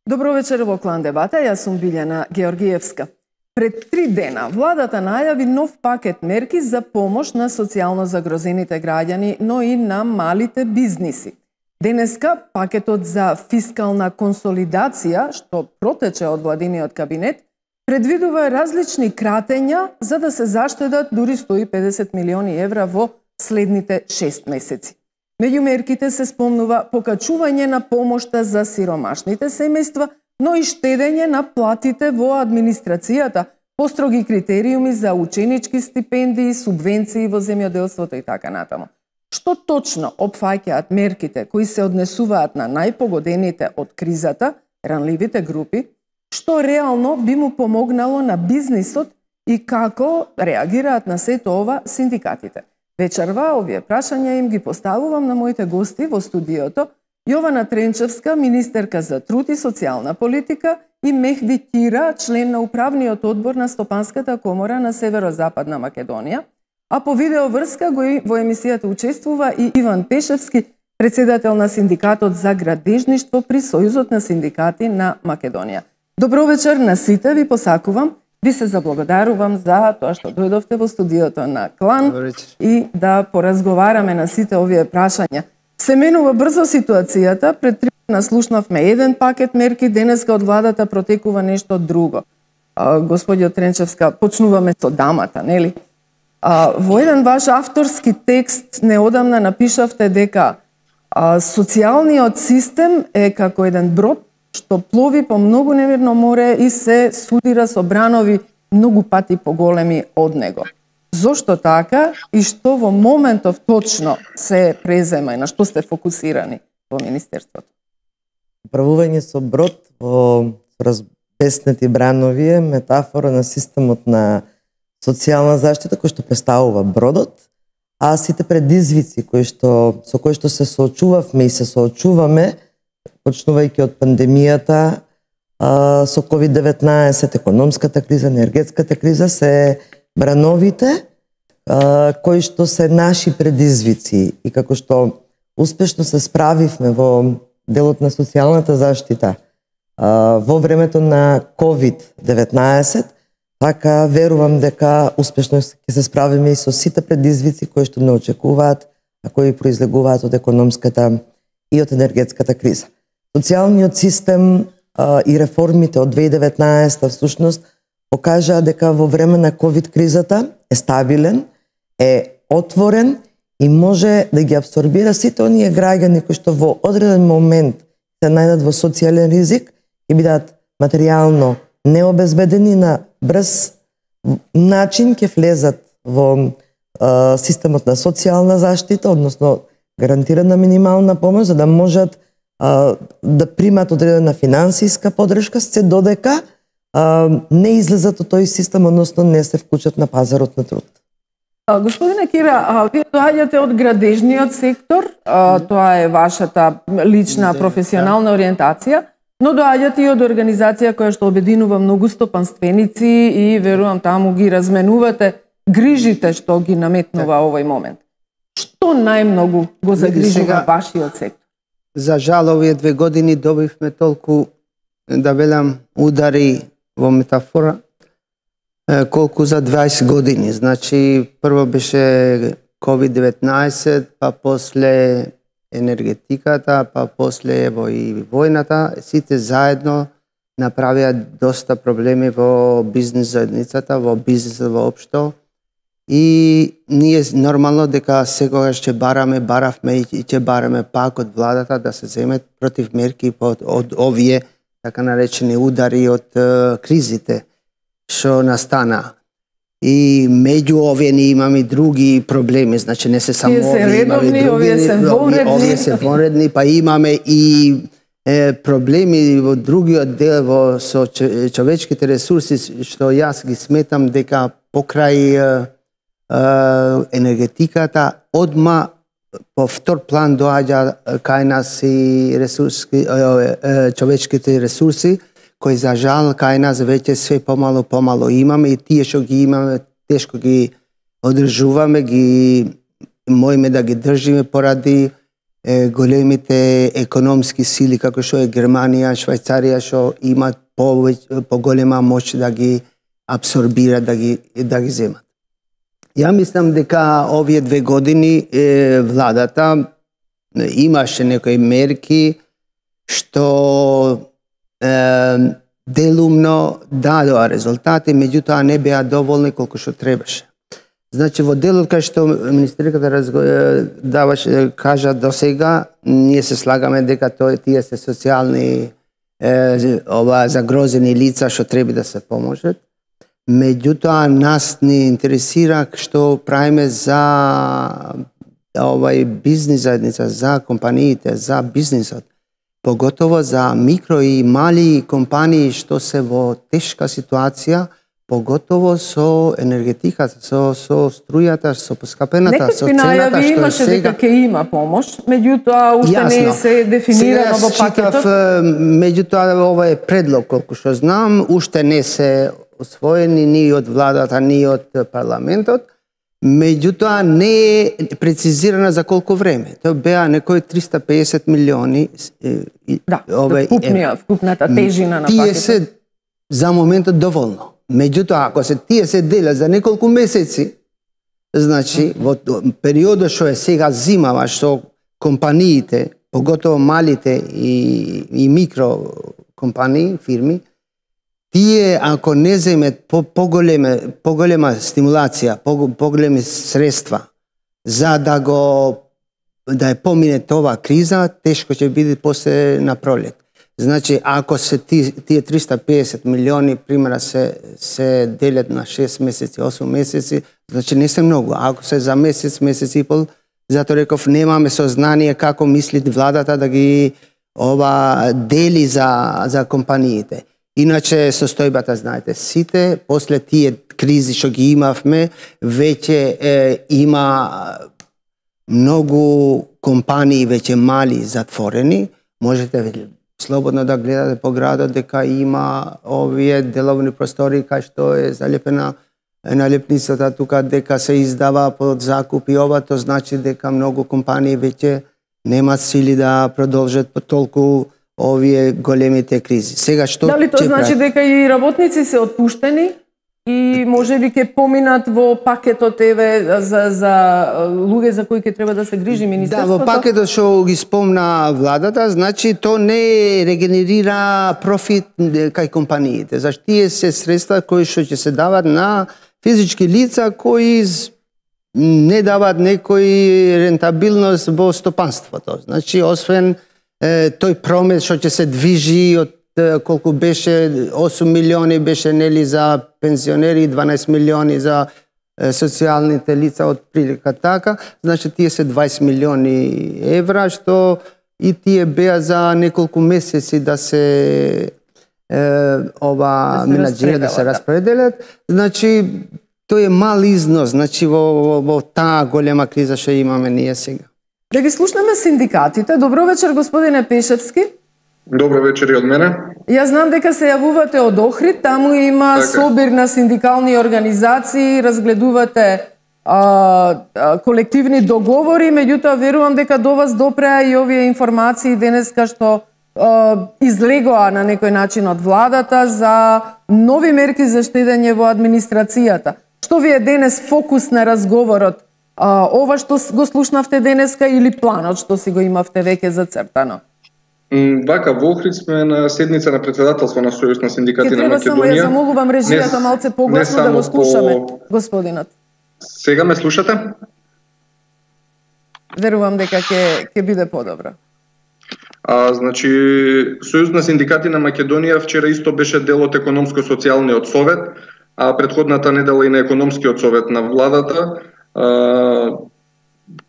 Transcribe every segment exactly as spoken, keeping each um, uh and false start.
Добро вечер во Клан Дебата, јас сум Билјана Георгиевска. Пред три дена владата најави нов пакет мерки за помош на социјално загрозените граѓани, но и на малите бизниси. Денеска пакетот за фискална консолидација, што протече од владиниот кабинет, предвидува различни кратења за да се заштедат дури сто и педесет милиони евра во следните шест месеци. Меѓу мерките се спомнува покачување на помошта за сиромашните семејства, но и штедење на платите во администрацијата, построги критериуми за ученички стипендии, субвенции во земјоделството и така натаму. Што точно опфаќаат мерките кои се однесуваат на најпогодените од кризата, ранливите групи, што реално би му помогнало на бизнисот и како реагираат на сето ова синдикатите? Вечерва овие прашања им ги поставувам на моите гости во студиото, Јована Тренчевска, министерка за труд и социјална политика, и Мехди Кира, член на управниот одбор на Стопанската комора на Северозападна Македонија, а по видеоврска во емисијата учествува и Иван Пешевски, председател на Синдикатот за градежништво при Сојузот на синдикати на Македонија. Добро вечер на сите, ви посакувам. Ви се заблагодарувам за тоа што дојдовте во студиото на Клан и да поразговараме на сите овие прашања. Се менува брзо ситуацијата, пред три дена слушнавме еден пакет мерки, денеска од владата протекува нешто друго. А, господиот Тренчевска, почнуваме со дамата, нели? А, во еден ваш авторски текст неодамна напишавте дека а, социјалниот систем е како еден брод што плови по многу немирно море и се судира со бранови многу пати поголеми од него. Зошто така и што во моментов точно се презема и на што сте фокусирани во Министерството? Управување со брод во разбеснети бранови е метафора на системот на социјална заштита кој што представува бродот, а сите предизвици кои што со кои што се соочувавме и се соочуваме, почнувајќи од пандемијата, а, со ковид деветнаесет, економската криза, енергетската криза, се брановите а, кои што се наши предизвици и како што успешно се справивме во делот на социјалната заштита а, во времето на ковид деветнаесет, така верувам дека успешно ќе се справиме и со сите предизвици кои што не очекуваат, а кои произлегуваат од економската и од енергетската криза. Социјалниот систем а, и реформите од две илјади и деветнаесета всушност покажаа дека во време на ковид кризата е стабилен, е отворен и може да ги абсорбира сите оние граѓани кои што во одреден момент се најдат во социјален ризик и бидат материјално необезбедени, на брз начин ќе влезат во а, системот на социјална заштита, односно гарантирана минимална помош, за да можат а, да примат одредена финансиска подршка, се додека а, не излезат од тој систем, односно не се вклучат на пазарот на труд. А, господине Кира, а, вие доаѓате од градежниот сектор, а, тоа е вашата лична професионална ориентација, но доаѓате и од организација која што обединува многу стопанственици и верувам таму ги разменувате грижите што ги наметнува овој момент. Што најмногу го загрижува вашиот сектор? За жал, овие две години добивме толку, да велам, удари во метафора, колку за дваесет години. Значи, прво беше ковид деветнаесет, па после енергетиката, па после ево и војната. Сите заедно направија доста проблеми во бизнес заедницата, во бизнесот воопшто. И ние нормално дека секогаш ќе бараме, баравме и ќе бараме пак од владата да се земат против мерки од, од овие така наречени удари од е, кризите што настана. И меѓу овие ние имаме други проблеми, значи не се само овие, имаме други, овие се вонредни, овие се вонредни, па имаме и е, проблеми во другиот дел во со човечките ресурси што јас ги сметам дека покрај е, енергетиката одма по втор план доаѓа кај нас и ресурски, човечките ресурси, кои за жал кај нас веќе све помало помало имаме и тие што ги имаме тешко ги одржуваме, ги моиме да ги држиме поради е, големите економски сили како што е Германија, Швајцарија, што имаат повеќе поголема моќ да ги абсорбираат, да ги да ги земат. Ја мислам дека овие две години е, владата имаше некои мерки што е, делумно дадоа резултати, меѓутоа не беа доволни колку што требаше. Значи, во делот кај што министерката разго... даваше, кажа до сега, ние се слагаме дека тоа тие се социјални е, ова загрозени лица што треба да се поможат. Меѓутоа, нас ни интересира што правиме за овај бизнис заедница, за компаниите, за бизнисот. Поготово за микро и мали компании што се во тешка ситуација, поготово со енергетиката, со, со струјата, со поскапената, со цената што е сега. Имаше дека ќе има помош, меѓутоа уште не се дефинирано во пакетот. Меѓутоа ова е предлог, колку што знам, уште не се освоени ни од владата, ни од парламентот. Меѓутоа не е прецизирана за колку време. Тоа беа некои триста и песет милиони. Да, вкупнија, вкупната тежина на тие пакетот. се за моментот доволно. Меѓутоа, ако се тие се делат за неколку месеци, значи, во периодот што е сега зимава, што компаниите, поготово малите и, и микро компании, фирми, тие ако не земет по, поголеме, поголема стимулација, по, поголеми средства за да го да ја помине тоа криза, тешко ќе биде после на пролет. Значи, ако се ти, тие триста и песет милиони, примера, се, се делят на шест месеци, осум месеци, значи не се многу. Ако се за месец, месец и пол, затоа реков, немаме сознание како мисли владата да ги ова дели за, за компаниите. Иначе состојбата, знаете, сите, после тие кризи што ги имавме, веќе е, има многу компании веќе мали затворени. Можете слободно да гледате по градот дека има овие деловни простори кај што е залепена налепницата тука дека се издава под закуп и ова, тоа значи дека многу компании веќе немаат сили да продолжат по толку овие големите кризи. Сега што дали тоа значи прави? Дека и работници се отпуштени и можеби ќе поминат во пакетот еве за за луѓе за кои ќе треба да се грижи министерството? Да, во пакетот што ги спомна владата, значи тоа не регенерира профит кај компаниите. Зашто тие се средства кои што ќе се дават на физички лица кои не дават некој рентабилност во стопанството. Значи, освен е, тој промет што ќе се движи од колку беше осум милиони беше нели за пензионери, дванаесет милиони за е, социјалните лица од прилика така, значи тие се дваесет милиони евра што и тие беа за неколку месеци да се е, ова да менаџира да се распределат. Значи тој е мал износ, значи во, во, во таа голема криза што имаме ние сега. Да ги слушнеме синдикатите. Добро вечер, господине Пешевски. Добро вечер и од мене. Јас знам дека се јавувате од Охрид, таму има така собир на синдикални организации, разгледувате а, а, колективни договори, меѓутоа верувам дека до вас допреа и овие информации денеска што а, излегоа на некој начин од владата за нови мерки за штедење во администрацијата. Што ви е денес фокус на разговорот? А, ова што го слушнавте денеска или планот што си го имавте веќе зацртано? Вака, во Охрид сме на седница на председателство на Сојуз на синдикати на Македонија. Само ја замолувам режијата малце погласно да го слушаме, по... господинот. Сега ме слушате? Верувам дека ќе ќе биде подобро. А, значи, Сојуз на синдикати на Македонија вчера исто беше дел од економско-социјалниот совет, а претходната недела и на економскиот совет на владата. А,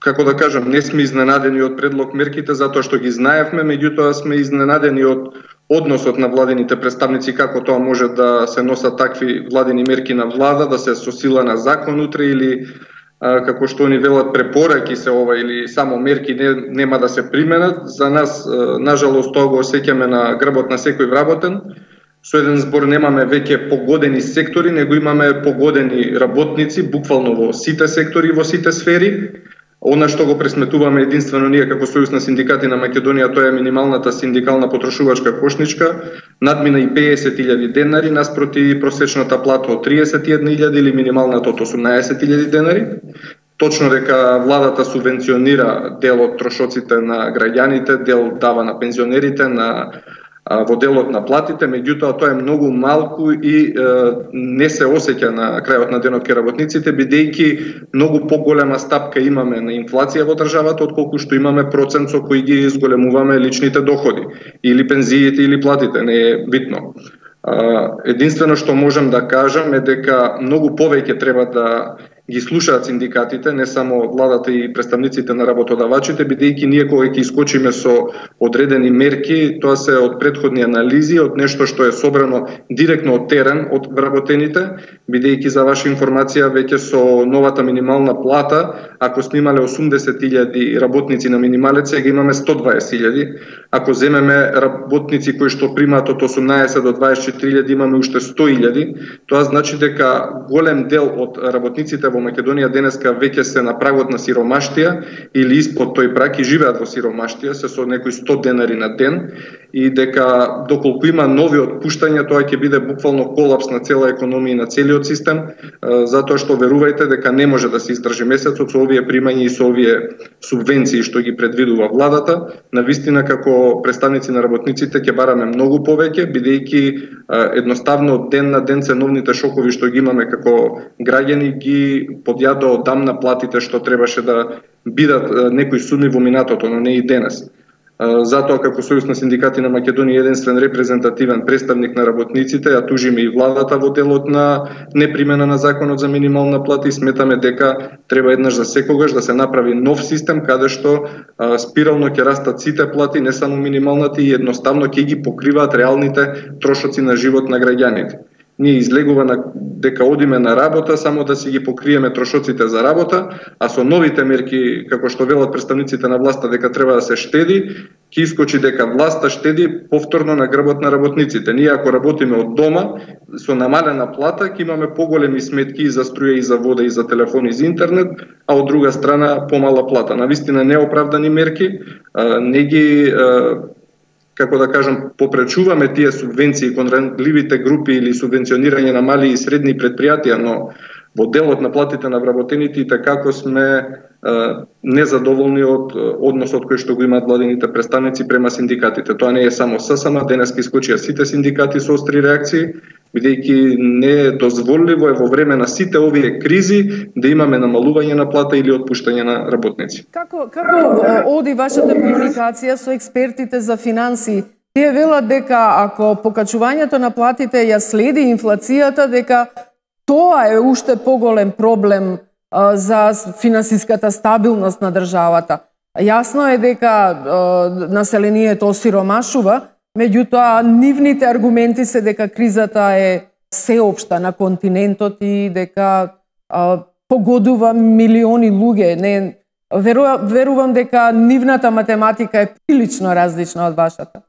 како да кажам, не сме изненадени од предлог мерките затоа што ги знаевме, меѓутоа сме изненадени од односот на владините представници како тоа може да се носат такви владини мерки на влада, да се со сила на закон утре или а, како што они велат препораки се ова или само мерки не, нема да се применат. За нас, а, нажалост, тоа го осеќаме на грбот на секој вработен. Со еден збор немаме веќе погодени сектори, него имаме погодени работници, буквално во сите сектори, во сите сфери. Она што го пресметуваме единствено ние како Сојуз на синдикати на Македонија, тоа е минималната синдикална потрошувачка кошничка, надмина и песет илјади денари наспроти просечната плата од триесет и една илјади или минималната од осумнаесет илјади денари. Точно дека владата субвенционира дел од трошоците на граѓаните, дел дава на пензионерите, на во делот на платите, меѓутоа тоа е многу малку и е, не се осеќа на крајот на денот кај работниците, бидејќи многу поголема стапка имаме на инфлација во државата отколку што имаме процент со кој ги зголемуваме личните доходи, или пензиите или платите, не е битно. Единствено што можам да кажам е дека многу повеќе треба да ги слушаат синдикатите, не само владата и представниците на работодавачите, бидејќи ние кога ќе искочиме со одредени мерки, тоа се од претходни анализи, од нешто што е собрано директно од терен од вработените, бидејќи за ваша информација веќе со новата минимална плата, ако сме имале осумдесет илјади работници на минималец, сега имаме сто дваесет илјади. Ако земеме работници кои што примаат од осумнаесет до дваесет и четири илјади, имаме уште сто илјади. Тоа значи дека голем дел од работниците во Македонија денеска веќе се на прагот на сиромаштија или испод тој праг и живеат во сиромаштија, се со некои сто денари на ден, и дека доколку има нови отпуштања, тоа ќе биде буквално колапс на цела економија и на целиот систем, затоа што верувајте дека не може да се издржи месецот со овие примања и со овие субвенции што ги предвидува владата. Навистина како представници на работниците ќе бараме многу повеќе, бидејќи едноставно од ден на ден ценовните шокови што ги имаме како граѓани ги подјадоа одамна платите што требаше да бидат некои суми во минатото, но не и денес. Затоа како Сојуз на синдикати на Македонија единствен репрезентативен представник на работниците, ја тужиме и владата во делот на непримена на законот за минимална плата и сметаме дека треба еднаш за секогаш да се направи нов систем каде што спирално ќе растат сите плати, не само минималната, и едноставно ќе ги покриваат реалните трошоци на живот на граѓаните. Ние излегува на дека одиме на работа само да си ги покриеме трошоците за работа, а со новите мерки, како што велат представниците на власта дека треба да се штеди, ќе искочи дека власта штеди повторно на грбот на работниците. Ние ако работиме од дома со намалена плата, ќе имаме поголеми сметки и за струја и за вода и за телефон и за интернет, а од друга страна помала плата. Навистина неоправдани мерки, не ги како да кажам, попречуваме тие субвенции кон ранливите групи или субвенционирање на мали и средни предпријатија, но во делот на платите на вработените и така сме е, незадоволни од односот кој што го имаат владините представници према синдикатите. Тоа не е само ССМ, денеска искочија сите синдикати со остри реакции, бидејќи не е дозволиво е во време на сите овие кризи да имаме намалување на плата или отпуштање на работници. Како како оди вашата комуникација со експертите за финансии? Тие велат дека ако покачувањето на платите ја следи инфлацијата, дека тоа е уште поголем проблем а, за финансиската стабилност на државата. Јасно е дека а, населението осиромашува, меѓутоа нивните аргументи се дека кризата е сеопшта на континентот и дека а, погодува милиони луѓе. Не, верувам, верувам дека нивната математика е прилично различна од вашата.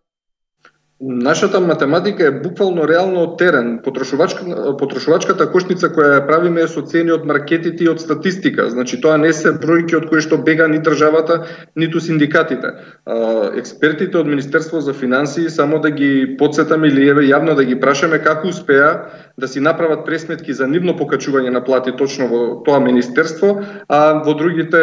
Нашата математика е буквално реално од терен. Потрошувачка, потрошувачката кошница која ја правиме е со цени од маркетите и од статистика. Значи тоа не се бројки од кои што бега ни државата, ниту синдикатите. Експертите од Министерство за финансии, само да ги подсетаме или еве јавно да ги прашаме како успеа да си направат пресметки за нивно покачување на плати точно во тоа министерство, а во другите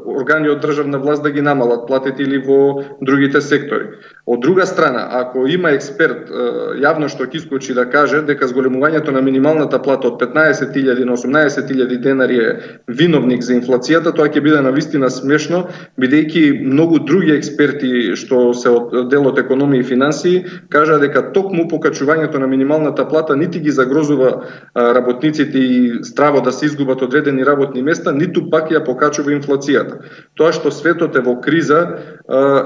органи од државна власт да ги намалат платите или во другите сектори. Од друга страна, ако има експерт јавно што ќе искочи да каже дека зголемувањето на минималната плата од петнаесет илјади на осумнаесет илјади денари е виновник за инфлацијата, тоа ќе биде навистина смешно, бидејќи многу други експерти што се од делот економија и финансии кажа дека токму покачувањето на минималната плата нити ги загрозува работниците и страво да се изгубат одредени работни места, ниту пак ја покачува инфлацијата. Тоа што светот е во криза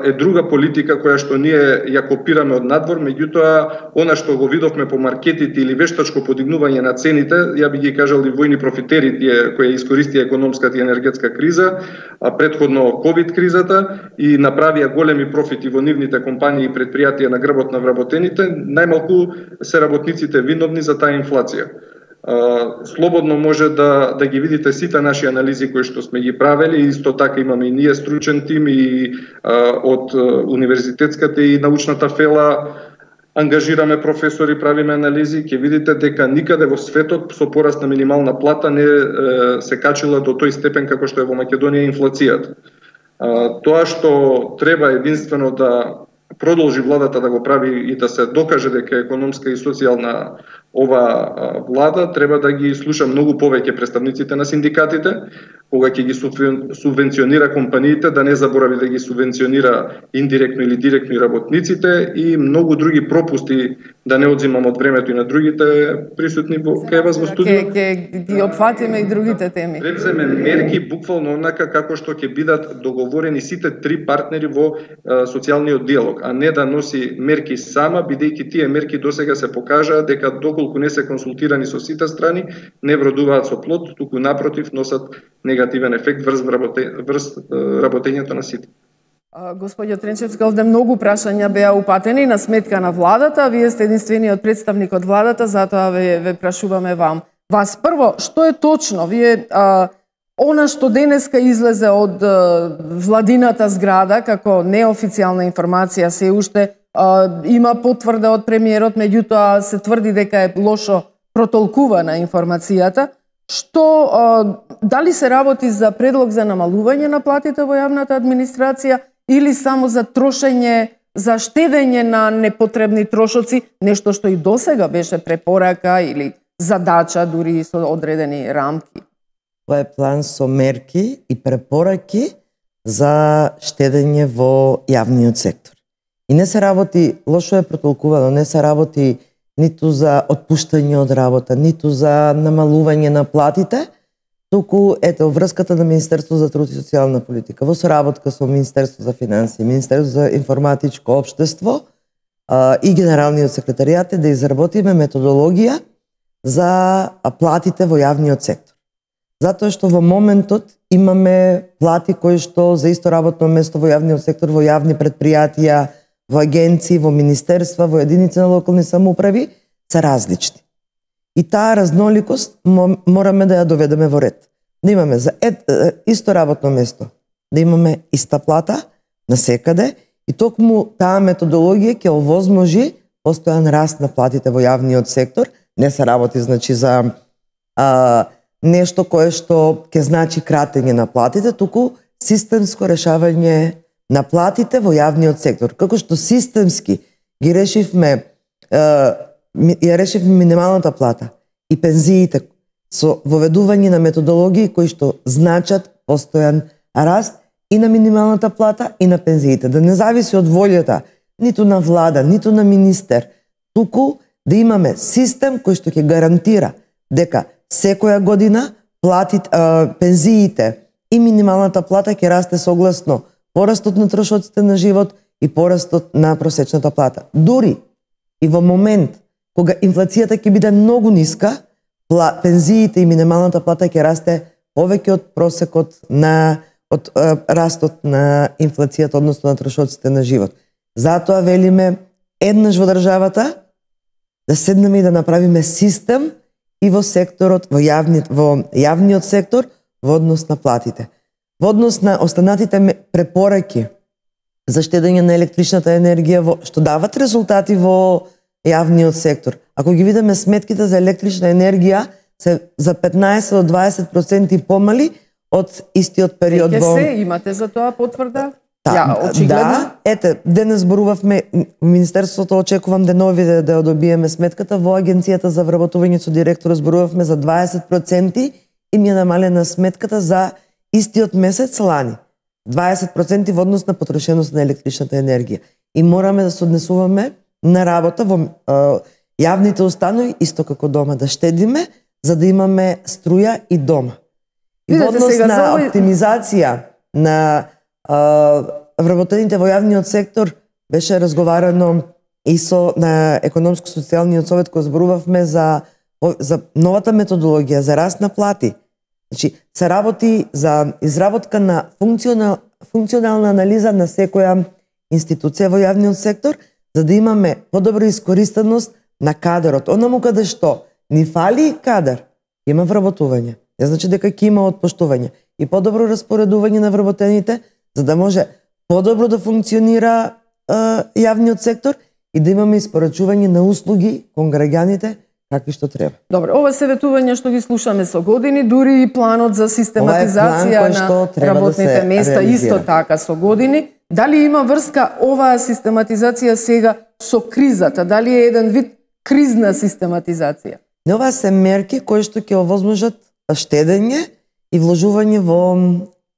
е друга политика која што ние ја копираме од надвор, меѓутоа она што го видовме по маркетите или вештачко подигнување на цените, ја би ги кажал и војни профитери тие кои искористија економската и енергетска криза, а претходно ковид кризата и направија големи профити во нивните компании и предпријатија на грбот на вработените, најмалку се работниците виновни за таа инфлација. слободно може да да ги видите сите наши анализи кои што сме ги правели. Исто така имаме и ние стручен тим и а, од универзитетската и научната фела ангажираме професори, правиме анализи, ќе видите дека никаде во светот со пораст на минимална плата не е, се качила до тој степен како што е во Македонија инфлацијата. А, тоа што треба единствено да продолжи владата да го прави и да се докаже дека е економска и социјална ова влада, треба да ги слуша многу повеќе представниците на синдикатите, кога ќе ги субвенционира компаниите, да не заборави да ги субвенционира индиректно или директно и работниците и многу други пропусти, да не одзимам од времето и на другите присутни во кај вас во студио. Ќе ќе ги опфатиме и другите теми. Предземе мерки буквално онака како што ќе бидат договорени сите три партнери во а, социјалниот диалог, а не да носи мерки сама, бидејќи тие мерки досега се покажаа дека доколку не се консултирани со сите страни, не вродуваат со плод, туку напротив носат негативен ефект врз, работе, врз работењето на сите. Господјо Тренчевска, овде многу прашања беа упатени на сметка на владата, вие сте единствениот представник од владата, затоа ве, ве прашуваме вам. Вас прво, што е точно? Вие а, она што денеска излезе од а, владината зграда како неофицијална информација се уште а, има потврда од премиерот, меѓутоа се тврди дека е лошо протолкувана информацијата. Што, а, дали се работи за предлог за намалување на платите во јавната администрација или само за трошење, за штедење на непотребни трошоци, нешто што и досега беше препорака или задача дури со одредени рамки? Тоа е план со мерки и препораки за штедење во јавниот сектор. И не се работи, лошо е протолкувано, не се работи ниту за отпуштање од работа, ниту за намалување на платите, туку ето врската на Министерство за труд и социјална политика во соработка со Министерство за финансии, Министерство за информатичко општество а, и Генералниот секретаријат е да изработиме методологија за платите во јавниот сектор. Затоа што во моментот имаме плати кои што за исто работно место во јавниот сектор, во јавни предпријатија, во агенции, во министерства, во единици на локални самоуправи се различни. И таа разноликост мораме да ја доведеме во ред. Да имаме за ед, исто работно место, да имаме иста плата насекаде и токму таа методологија ќе овозможи постојан раст на платите во јавниот сектор. Не се работи значи за а, нешто кое што ќе значи кратење на платите, туку системско решавање на платите во јавниот сектор. Како што системски ги решивме, ја решивме минималната плата и пензиите со воведување на методологии кои што значат постојан раст и на минималната плата и на пензиите. Да не зависи од волјата ниту на влада, ниту на министер, туку да имаме систем кој што ќе гарантира дека секоја година платите, пензиите и минималната плата ќе расте согласно порастот на трошоците на живот и порастот на просечната плата. Дури и во момент кога инфлацијата ќе биде многу ниска, пензиите и минималната плата ќе расте повеќе од просекот на од е, растот на инфлацијата, односно на трошоците на живот. Затоа велиме еднаш во државата да седнеме и да направиме систем и во секторот, во јавниот, во јавниот сектор во однос на платите. Во однос на останатите препораки за штедење на електричната енергија во, што дават резултати во јавниот сектор. Ако ги видиме сметките за електрична енергија се за петнаесет до дваесет проценти помали од истиот период во... во... се имате за тоа потврда? Да, ја, очигледно? Да, ете, денес зборувавме, Министерството очекувам денови да, да ја добиеме сметката, во Агенцијата за вработување со директор зборувавме за дваесет проценти и ми е намалена сметката за истиот месец лани. дваесет проценти во однос на потрошеност на електричната енергија. И мораме да се однесуваме на работа во е, јавните установи, исто како дома, да штедиме, за да имаме струја и дома. И во однос на овој... оптимизација на вработените во јавниот сектор беше разговарано и со на економско-социјалниот совет кој зборувавме за за новата методологија за раст на плати. Значи се работи за изработка на функционал, функционална анализа на секоја институција во јавниот сектор за да имаме подобра искористеност на кадрот. Онаму каде што ни фали кадар, има вработување. Не значи дека ќе има отпуштување и подобро распоредување на вработените, за да може подобро да функционира е, јавниот сектор и да имаме испорачување на услуги кон граѓаните какви што треба. Добро, ова се ветување што ги слушаме со години, дури и планот за систематизација на работните да места реализира. исто така со години. Дали има врска оваа систематизација сега со кризата? Дали е еден вид кризна систематизација? Не, ова се мерки кои што ќе овозможат штедење и вложување во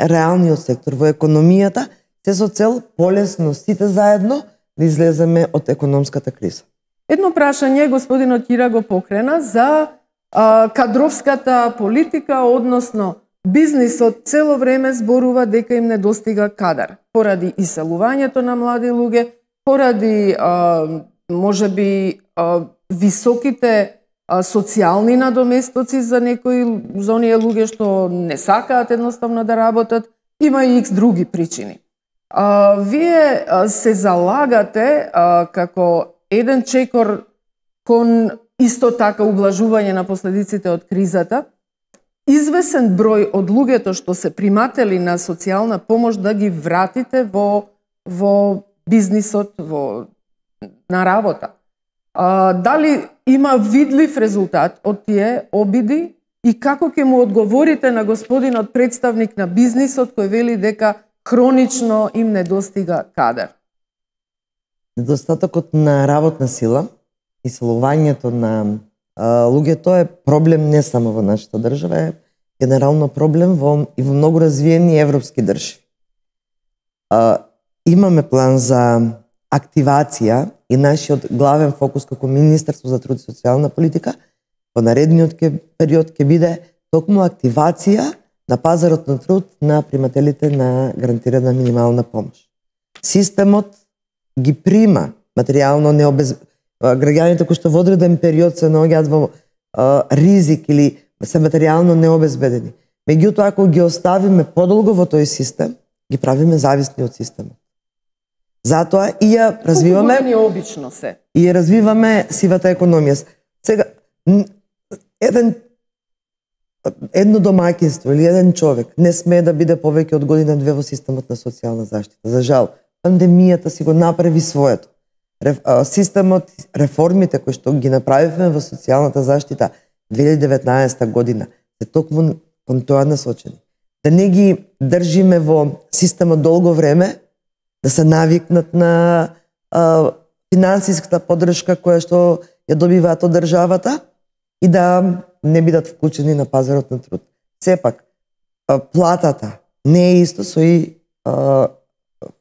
реалниот сектор, во економијата, се со цел полесно сите заедно да излеземе од економската криза. Едно прашање господинот Кира го покрена за а, кадровската политика, односно бизнисот цело време зборува дека им недостига кадар, поради иселувањето на млади луѓе, поради а, можеби а, високите а, социјални надоместоци за некои за оние луѓе што не сакаат едноставно да работат, има и икс други причини. А, вие а, се залагате а, како еден чекор кон исто така ублажување на последиците од кризата, извесен број од луѓето што се приматели на социјална помош да ги вратите во во бизнисот, во на работа. А, дали има видлив резултат од тие обиди и како ќе му одговорите на господинот представник на бизнисот кој вели дека хронично им недостига кадар? Недостатокот на работна сила, иселувањето на а, луѓето е проблем не само во нашата држава, е генерално проблем во, и во многу развиени европски држави. А, имаме план за активација и нашиот главен фокус како Министерство за труд и социјална политика во наредниот период ќе биде токму активација на пазарот на труд на примателите на гарантирана минимална помош. Системот ги прима материјално необез... граѓаните кои што во одреден период се наоѓаат во а, ризик или се материјално необезбедени. Меѓутоа, ако ги оставиме подолго во тој систем, ги правиме зависни од системот. Затоа и ја развиваме обично се. И ја развиваме сивата економија. Сега еден едно домаќинство или еден човек не смее да биде повеќе од година две во системот на социјална заштита. За жал, пандемијата си го направи своето. Системот, реформите кои што ги направивме во социјалната заштита две илјади и деветнаесетта година се токму кон тоа насочени. Да не ги држиме во системот долго време, да се навикнат на а, финансиската поддршка која што ја добиваат од државата и да не бидат вклучени на пазарот на труд. Сепак, а, платата не е исто со и а,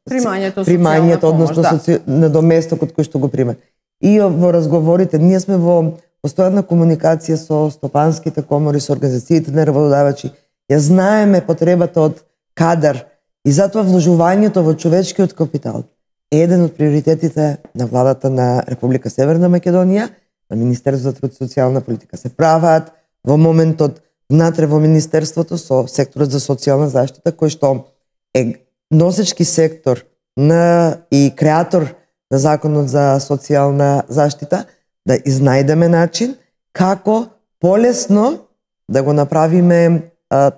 примањето, примањето односно да. соци... недоместокот кој што го примат. И во разговорите, ние сме во постојана комуникација со стопанските комори, со организациите на работодавачи. Ја знаеме потребата од кадар и затоа вложувањето во човечкиот капитал е еден од приоритетите на владата на Република Северна Македонија, на Министерството за труд и социјална политика. Се прават во моментот внатре во Министерството со секторот за социјална заштита, кој што е носечки сектор на и креатор на Законот за социјална заштита, да изнајдеме начин како полесно да го направиме а,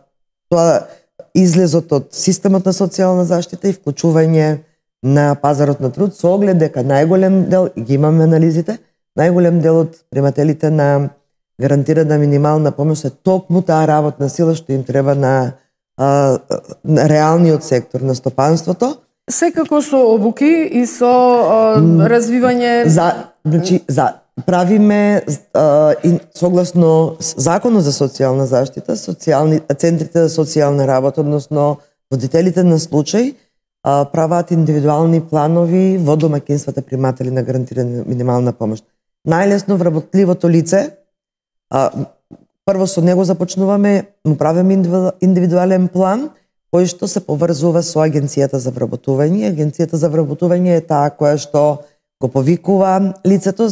тоа излезот од системот на социјална заштита и вклучување на пазарот на труд, со оглед дека најголем дел, и ги имаме анализите, најголем дел од примателите на гарантирана минимална помош е токму таа работна сила што им треба на, а, на реалниот сектор на стопанството. Секако со обуки и со а, развивање... За, значи, за правиме а, и согласно Законот за социјална заштита, социјални центрите за социјална работа, односно водителите на случај, а, прават индивидуални планови во домаќинствата приматели на гарантирана минимална помош. Најлесно вработливото лице, а, прво со него започнуваме, му правиме индивидуален план, кој што се поврзува со Агенцијата за вработување. Агенцијата за вработување е таа која што го повикува лицето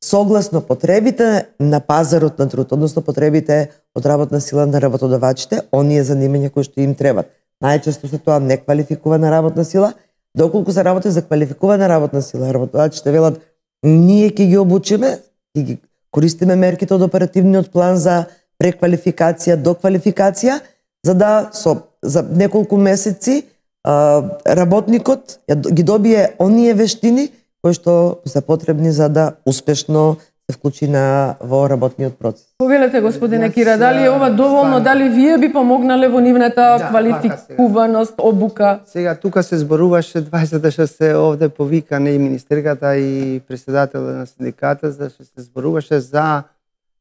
согласно потребите на пазарот на труд, односно потребите од работна сила на работодавачите, оние занимања кои што им требат. Најчесто се тоа неквалификувана работна сила, доколку се работи за квалификувана работна сила, работодавачите велат ние ќе ги обучиме, ќе ги користиме мерките од оперативниот план за преквалификација, доквалификација, за да со за неколку месеци а, работникот ги добие оние вештини кои што се потребни за да успешно се вклучи на во работниот процес. Повелете, господине Кира, дали е ова доволно, дали вие би помогнале во нивната да, квалификуваност, обука? Сега тука се зборуваше дваесет што се овде повикане и министерката и председателот на синдиката, за што се зборуваше за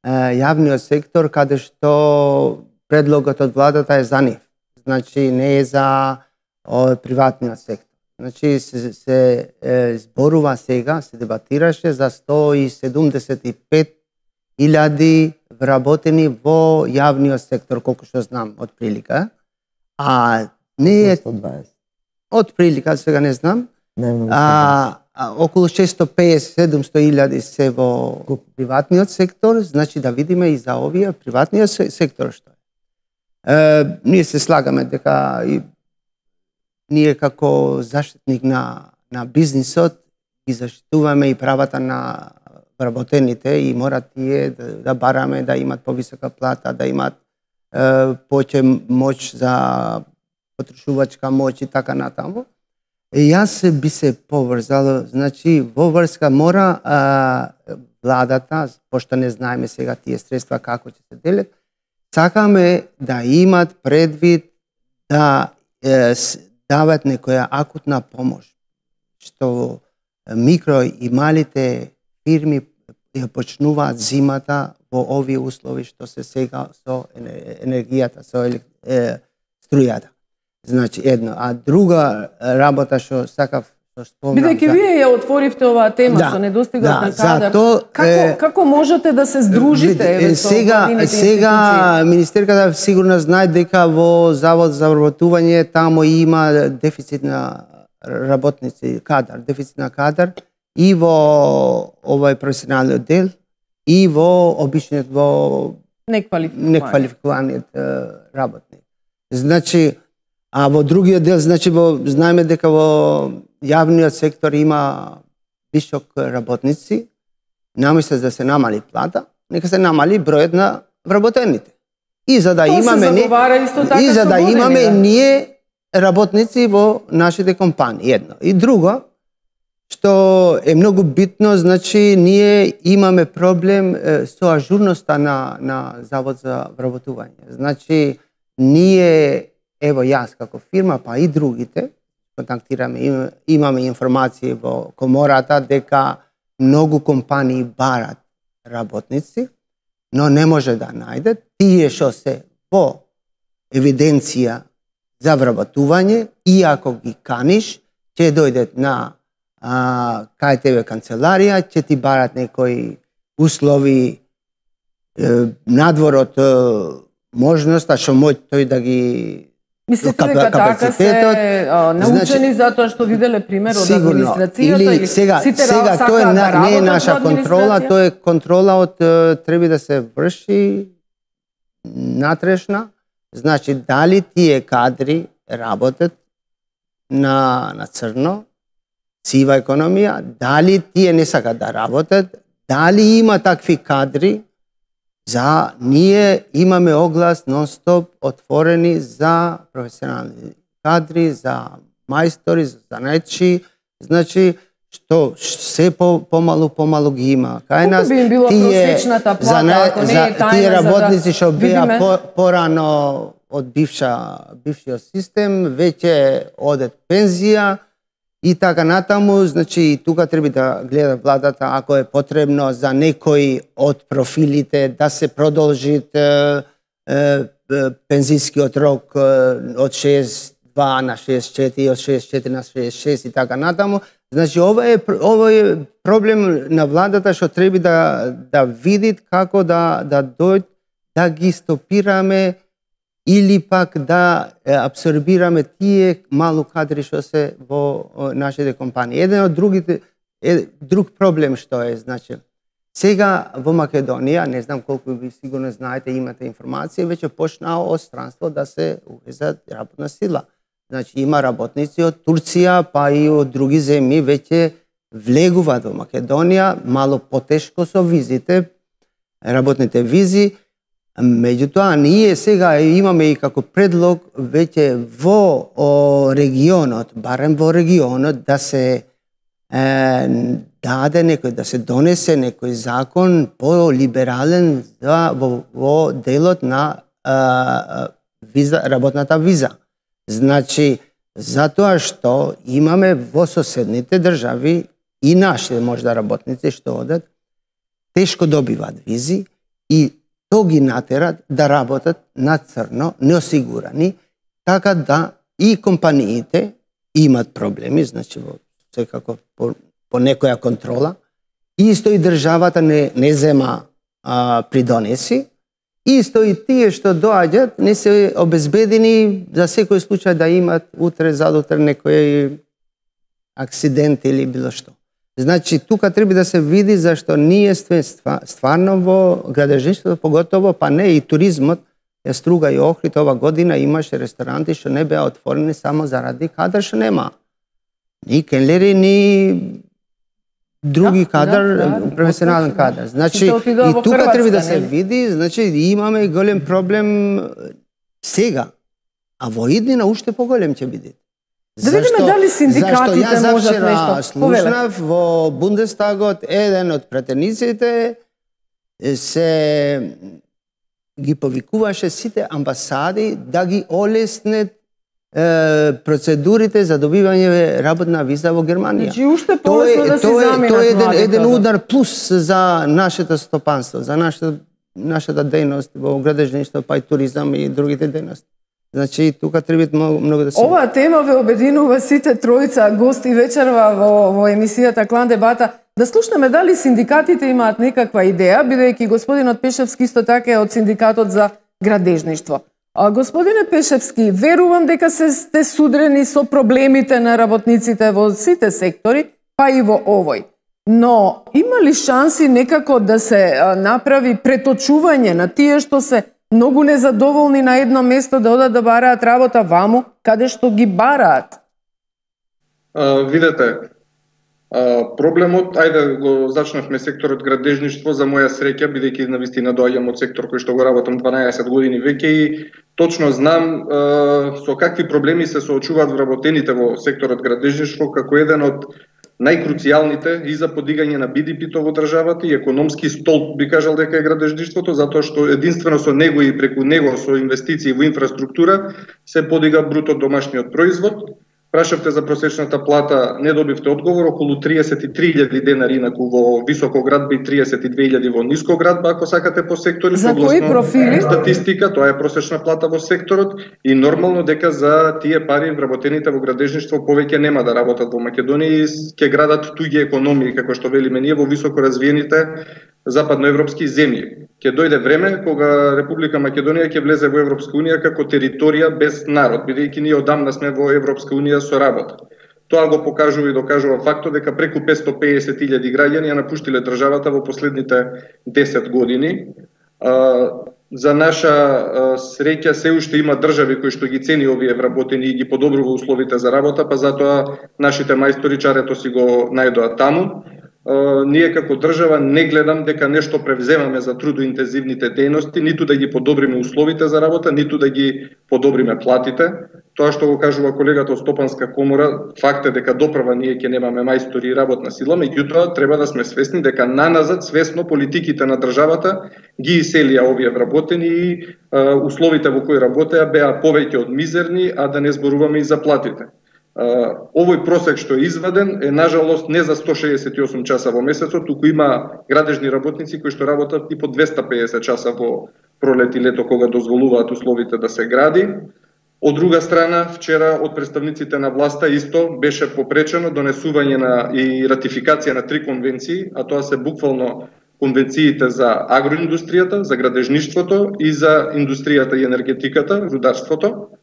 е, јавниот сектор, каде што предлогот од владата е за нив. Значи не е за о, приватниот сектор. Значи се, се е, зборува сега, се дебатираше за сто и седумдесет и пет илјади вработени во јавниот сектор, колку што знам, од прилика. А не е... сто дваесет. Од прилика, сега не знам. Не, а, а, околу шестоста песет до седумсто илјади се во приватниот сектор, значи да видиме и за овие приватниот сектор што е. Е, ние се слагаме дека и ние како заштитник на, на бизнисот ги заштитуваме и правата на вработените и мора тие да, да бараме да имат повисока плата, да имат е, повеќе моќ за потрошувачка моќ и така натаму. И јас би се поврзал, значи во врска мора а, владата, пошто не знаеме сега тие средства како ќе се делат, сакаме да имат предвид да е, дават некоја акутна помош, што микро и малите фирми почнуваат зимата во овие услови што се сега со енергијата, со е, струјата. Значи едно, а друга работа што сакав што спомнам. Бидејќи вие ја отворивте оваа тема да, со недостигот да, на кадар, зато, како е, како можете да се здружите еве со сега сега министерката сигурно знае дека во Завод за вработување таму има дефицит на работници, кадар, дефицит на кадар и во овој професионалниот дел и во обичниот во неквалификуваниот работник. Значи, а во другиот дел, значи во знаеме дека во јавниот сектор има висок работници, наместо да се намали плата, нека се намали бројот на вработените. И за да То имаме не, и за да имаме ние работници во нашите компании, едно. И друго, што е многу битно, значи ние имаме проблем е, со ажурноста на на Завод за вработување. Значи ние, ево јас како фирма, па и другите контактираме, имаме информации во комората дека многу компании барат работници, но не може да најдат. Тие што се во евиденција за вработување, и ако ги каниш, ќе дојдат на а, кај тебе канцеларија, ќе ти барат некои услови е, надвор од можноста што може тој да ги Мислите дека така се а, научени значи, затоа што виделе пример од администрацијата или, или сега, сите сега тоа е, да не е наша контрола, тоа е контрола од треба да се врши натрешна. Значи дали тие кадри работат на на црно, сива економија, дали тие не сакат да работат, дали има такви кадри. За ние имаме оглас нон-стоп отворени за професионални кадри, за мајстори, за занајчи, значи што се по помалу помалу ги има. Кај нас би им било просечната плата, за, ако не за, е тајна, тие работници што да беа по, порано од бивша бившиот систем, веќе одат пензија и така натаму, значи тука треба да гледа владата ако е потребно за некои од профилите да се продолжи е, е, пензискиот рок од шеесет и два на шеесет и четири, од шеесет и четири на шеесет и шест и така натаму. Значи ова е ова е проблем на владата што треба да да види како да да дојде да ги стопираме или пак да абсорбираме тие малу кадри што се во нашите компании. Еден од другите е друг проблем што е, значи сега во Македонија, не знам колку ви сигурно знаете, имате информација, веќе почнаа од странство да се увезат работна сила. Значи има работници од Турција, па и од други земји веќе влегуваат во Македонија, мало потешко со визите, работните визи. Меѓутоа, ние сега имаме и како предлог веќе во о, регионот, барем во регионот, да се е, даде некој, да се донесе некој закон по-либерален за, во, во делот на е, виза, работната виза. Значи, затоа што имаме во соседните држави и нашите можда работници што одат, тешко добиваат визи и то ги натерат да работат на црно, неосигурани, така да и компаниите имат проблеми, значи во секако по, по некоја контрола, и исто и државата не, не зема а, придонеси, исто и тие што доаѓат не се обезбедени за секој случај да имат утре, задутре некој акцидент или било што. Значи, тука треба да се види зашто ние стварно во градежништвото, поготово, па не и туризмот, ја Струга и Охрид ова година имаше ресторанти што не беа отворени само заради кадар што нема. Ни келнери, ни други да, кадар, да, да, професионален да. кадар. Значи, и тука треба да се види, значи имаме голем проблем сега, а во иднина уште поголем ќе биде. Да видиме дали синдикатите можат нешто. Слушнав во Бундестагот еден од претениците се ги повикуваше сите амбасади да ги олеснет е, процедурите за добивање работна виза во Германија. Значи уште полесно да се заминат. Тоа е еден, еден удар плюс за нашето стопанство, за нашата нашата дејност во градежништво, па и туризам и другите дејности. Значи, тука треба многу, многу да се... Оваа тема ве обединува сите тројца гости вечерва во, во емисијата Клан дебата. Да слушнеме дали синдикатите имаат некаква идеја, бидејќи господинот Пешевски исто така е од синдикатот за градежништво. А, господине Пешевски, верувам дека се сте судрени со проблемите на работниците во сите сектори, па и во овој. Но има ли шанси некако да се а, направи преточување на тие што се многу незадоволни на едно место да одат да бараат работа ваму, каде што ги бараат? А, видете, а, проблемот, ајде го зачнавме секторот градежништво, за моја среќа, бидејќи навистина доаѓам од сектор кој што го работам дванаесет години веќе и точно знам а, со какви проблеми се соочуваат вработените во секторот градежништво како еден од најкруцијалните и за подигање на Би Ди Пи-то во државата и економски столб, би кажал дека е градежништвото, затоа што единствено со него и преку него со инвестиции во инфраструктура се подига бруто домашниот производ. Прашавте за просечната плата, не добивте одговор, околу триесет и три илјади денари, инаку во високоградба и триесет и две илјади во нискоградба, ако сакате по сектори. За кои профили? Статистика, тоа е просечна плата во секторот и нормално дека за тие пари вработените во градежништво повеќе нема да работат во Македонија и ќе градат туѓи економии, како што велиме ние во високо развиените западноевропски земји. Ќе дојде време кога Република Македонија ќе влезе во Европска унија како територија без народ, бидејќи ние одамна сме во Европска унија со работа. Тоа го покажува и докажува фактот дека преку петстотини и песет илјади граѓани ја напуштиле државата во последните десет години. За наша среќа се уште има држави кои што ги цени овие вработени и ги подобрува условите за работа, па затоа нашите мајстори чарето си го најдоа таму. Uh, ние како држава не гледам дека нешто превземаме за трудоинтензивните дејности, ниту да ги подобриме условите за работа, ниту да ги подобриме платите. Тоа што го кажува колегата од Стопанска комора, факт е дека допрва ние ќе немаме мајстори и работна сила, меѓутоа треба да сме свесни дека наназад свесно политиките на државата ги иселија овие вработени и uh, условите во кои работеа беа повеќе од мизерни, а да не зборуваме и за платите. Uh, овој просек што е изваден е нажалост не за сто шеесет и осум часа во месецот, туку има градежни работници кои што работат и по двеста и педесет часа во пролет и лето кога дозволуваат условите да се гради. Од друга страна, вчера од представниците на власта исто беше попречено донесување на и ратификација на три конвенции, а тоа се буквално конвенциите за агроиндустријата, за градежништвото и за индустријата и енергетиката, рударството,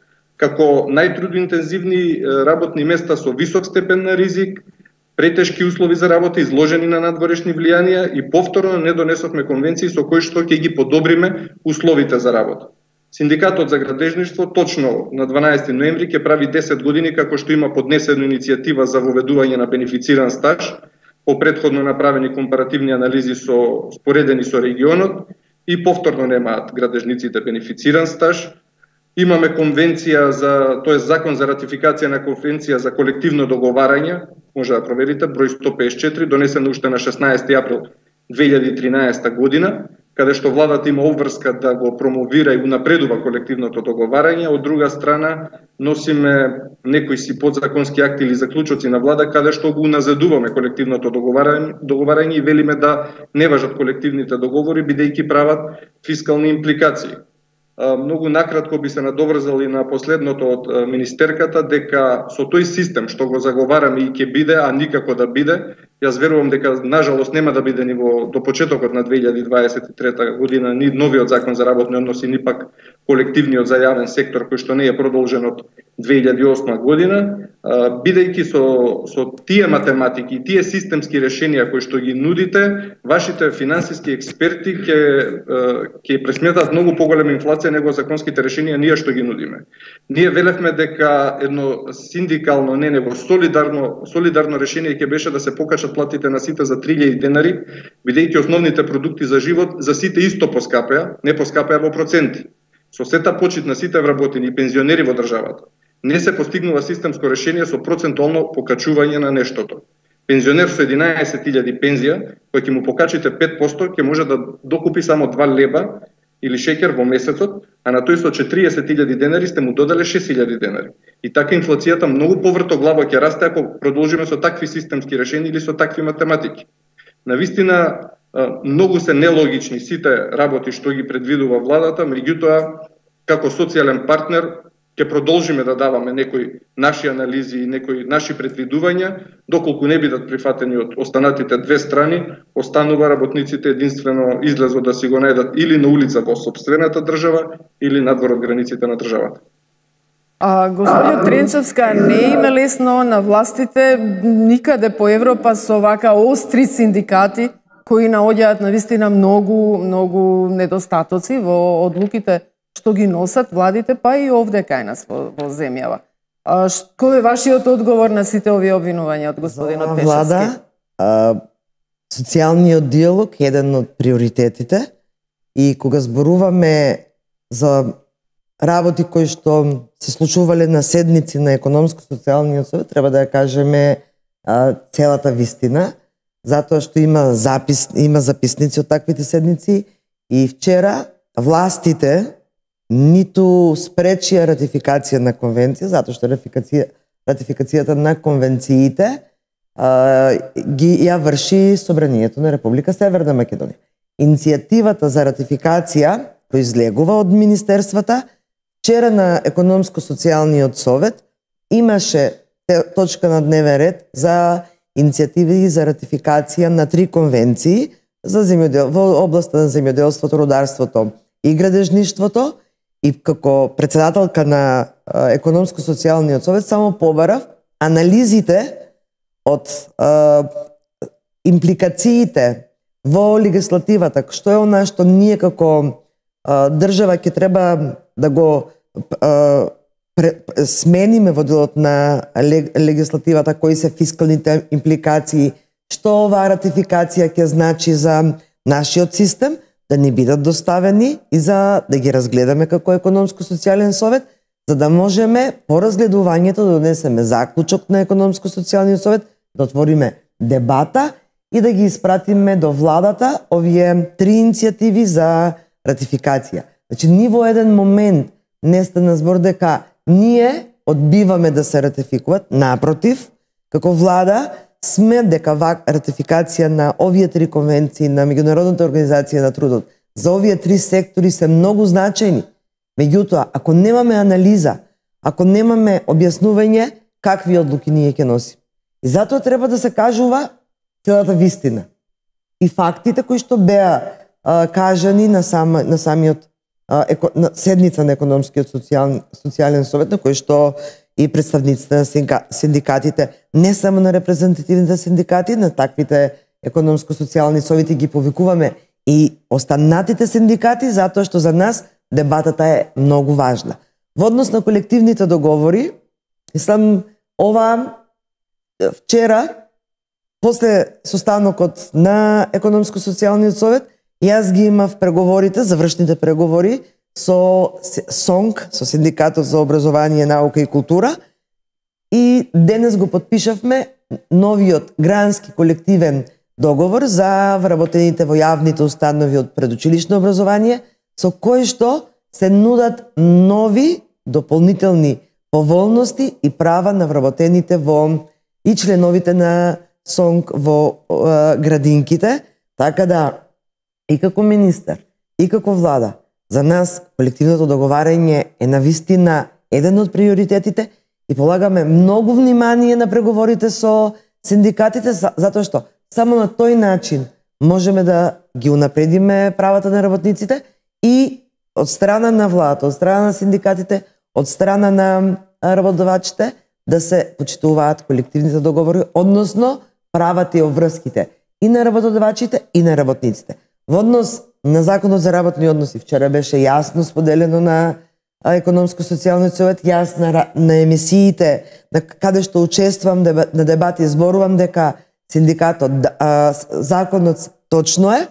како најтрудоинтензивни работни места со висок степен на ризик, претешки услови за работа, изложени на надворешни влијанија и повторно не донесовме конвенции со кои што ќе ги подобриме условите за работа. Синдикатот за градежништво точно на дванаесети ноември ќе прави десет години како што има поднесена иницијатива за воведување на бенефициран стаж по претходно направени компаративни анализи со споредени со регионот и повторно немаат градежниците бенефициран стаж. Имаме конвенција за, тоа е закон за ратификација на конвенција за колективно договарање, може да проверите, број сто песет и четири, донесен уште на шеснаесети април две илјади и тринаесета година, каде што владата има обврска да го промовира и унапредува колективното договарање, од друга страна носиме некои си подзаконски акти или заклучоци на влада каде што го уназадуваме колективното договарање, договарање и велиме да не важат колективните договори бидејќи прават фискални импликации. Многу накратко би се надоврзал и на последното од министерката дека со тој систем што го заговараме и ќе биде, а никако да биде, јас верувам дека нажалост нема да биде ни во до почетокот на две илјади дваесет и трета година ни новиот закон за работни односи, ни пак колективниот за јавен сектор кој што не е продолжен од две илјади и осма година, бидејќи со со тие математики и тие системски решенија кои што ги нудите, вашите финансиски експерти ќе ќе пресметат многу поголема инфлација него законските решенија ние што ги нудиме. Ние велевме дека едно синдикално, не него солидарно солидарно решение ќе беше да се покачат платите на сите за три илјади денари, бидејќи основните продукти за живот за сите исто поскапеа, не поскапеа во проценти. Со сета почит на сите вработени и пензионери во државата, не се постигнува системско решение со процентуално покачување на нештото. Пензионер со единаесет илјади пензија, кој ќе му покачите пет проценти, ќе може да докупи само два леба или шеќер во месецот, а на тој со четириесет илјади денари сте му додале шест илјади денари. И така инфлацијата многу повртоглаво ќе расте ако продолжиме со такви системски решенија или со такви математики. Навистина, многу се нелогични сите работи што ги предвидува владата, меѓутоа, како социјален партнер, ќе продолжиме да даваме некои наши анализи и некои наши предвидувања, доколку не бидат прифатени од останатите две страни, останува работниците единствено излезот да си го најдат или на улица во сопствената држава, или надвор од границите на државата. А, господиот Тренчевска, не им е лесно на властите никаде по Европа со вака остри синдикати кои наоѓаат навистина многу, многу недостатоци во одлуките што ги носат владите, па и овде кај нас во, во земјава. А, кој е вашиот одговор на сите овие обвинувања од господинот Пешевски? Влада, а, социјалниот диалог е еден од приоритетите и кога зборуваме за работи кои што се случувале на седници на економско-социјалниот совет, треба да ја кажеме а, целата вистина, затоа што има запис, има записници од таквите седници и вчера властите ниту спречија ратификација на конвенција, затоа што ратификација, ратификацијата на конвенциите а, ги ја врши Собранието на Република Северна Македонија. Иницијативата за ратификација произлегува од министерствата. Вчера на економско-социјалниот совет имаше точка на дневен ред за иницијативи за ратификација на три конвенции за земјодел, во областа на земјоделството, рударството и градежништвото. И како председателка на економско-социјалниот совет само побарав анализите од а, импликациите во легислативата, што е она што ние како а, држава ќе треба да го а, пре, смениме во делот на легислативата, кои се фискалните импликации, што оваа ратификација ќе значи за нашиот систем, да ни бидат доставени и за да ги разгледаме како економско-социјален совет, за да можеме по разгледувањето да донесеме заклучок на економско-социјалниот совет, да отвориме дебата и да ги испратиме до владата овие три иницијативи за ратификација. Значи, ни во еден момент не стана збор дека ние одбиваме да се ратификуват, напротив, како влада сме дека ратификација на овие три конвенции на Меѓународната организација на трудот за овие три сектори се многу значајни. Меѓутоа, ако немаме анализа, ако немаме објаснување, какви одлуки ние ќе носиме. И затоа треба да се кажува целата вистина. И фактите кои што беа а, кажани на, сам, на самиот а, еко, на седница на економскиот социјален, социјален совет, на кој што и представниците на синдикатите, не само на репрезентативните синдикати, на таквите економско-социјални совети ги повикуваме и останатите синдикати, затоа што за нас дебатата е многу важна. Во однос на колективните договори, мислам, ова вчера, после состанокот на економско-социјалниот совет, Јас ги имав преговорите, завршните преговори со СОНК, со Синдикатот за образование, наука и култура, и денес го подпишавме новиот грански колективен договор за вработените во јавните установи од предучилишно образование, со кој што се нудат нови дополнителни поволности и права на вработените во и членовите на СОНК во е, градинките, така да и како министер, и како влада, за нас колективното договарање е навистина еден од приоритетите и полагаме многу внимание на преговорите со синдикатите, затоа што само на тој начин можеме да ги унапредиме правата на работниците и од страна на владата, од страна на синдикатите, од страна на работодавачите да се почитуваат колективните договори, односно правата и обврските и на работодавачите и на работниците. Во однос на Законот за работни односи вчера беше јасно споделено на Економско-социјалниот совет, јас на, на емисиите на каде што учествувам на дебати зборувам дека синдикатот а, законот точно е,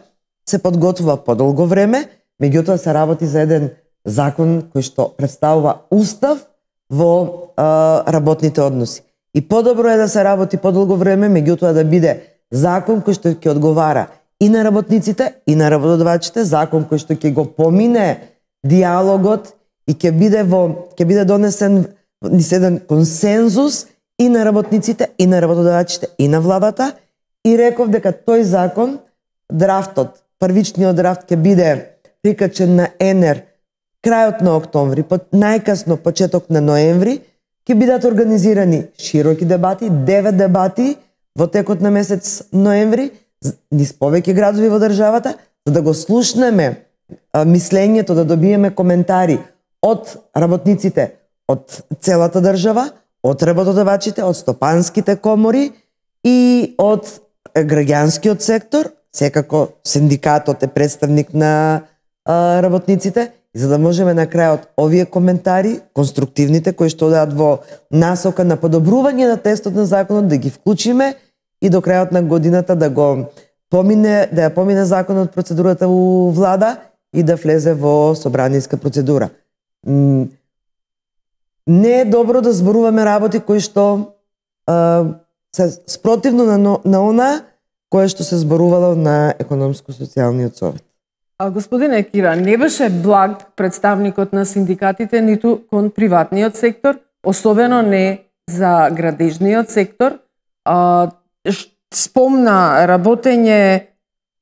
се подготвува подолго време, меѓутоа се работи за еден закон кој што представува устав во а, работните односи. И подобро е да се работи подолго време, меѓутоа да биде закон кој што ќе одговара и на работниците, и на работодавачите, закон кој што ќе го помине диалогот и ќе биде во ќе биде донесен низ еден консензус и на работниците, и на работодавачите, и на владата. И реков дека тој закон, драфтот, првичниот драфт ќе биде прикачен на ЕНЕР крајот на октомври, најкасно почеток на ноември, ќе бидат организирани широки дебати, девет дебати во текот на месец ноември, низ повеќе градови во државата, за да го слушнеме а, мислењето, да добиеме коментари од работниците, од целата држава, од работодавачите, од стопанските комори и од граѓанскиот сектор. Секако синдикатот е представник на а, работниците, за да можеме на крајот овие коментари, конструктивните, кои што одат во насока на подобрување на текстот на законот, да ги вклучиме и до крајот на годината да го помине, да ја помине законот процедурата у влада и да влезе во собраниска процедура. Не е добро да зборуваме работи кои што а, се спротивно на, на она кое што се зборувало на Економско-социјалниот совет. А господине Кира, не беше благ представникот на синдикатите ниту кон приватниот сектор, особено не за градежниот сектор. А, спомна работење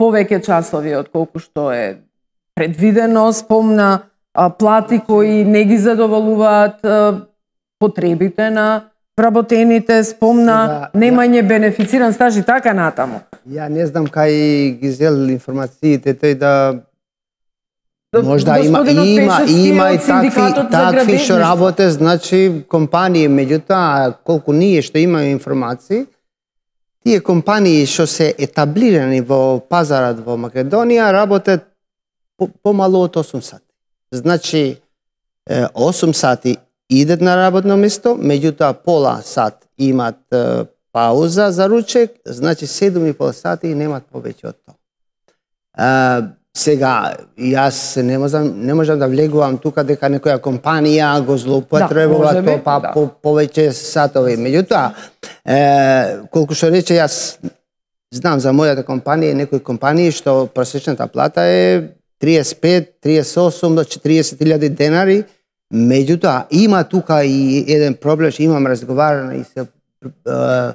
повеќе часови од колку што е предвидено, спомна а, плати кои не ги задоволуваат а, потребите на вработените, спомна сега, немање бенефициран стаж и така натаму. Ја не знам кај ги зел информациите, тој да можда има има има и такви такви што работе, значи компании, меѓутоа колку ние што имаме информации, тие компании што се етаблирани во пазарот во Македонија работат помалу од осум сати. Значи осум сати идат на работно место, меѓутоа пола сат имат е, пауза за ручек, значи седум и пол сати и немат повеќе од тоа. Е, сега, јас не можам, не можам да влегувам тука дека некоја компанија го злоупотребува да, тоа па да. по, повеќе сатови. Меѓутоа, е, колку што рече, јас знам за мојата компанија, некои компании што просечната плата е триесет пет, триесет осум до четириесет илјади денари. Меѓутоа, има тука и еден проблем, што имам разговарано и со е,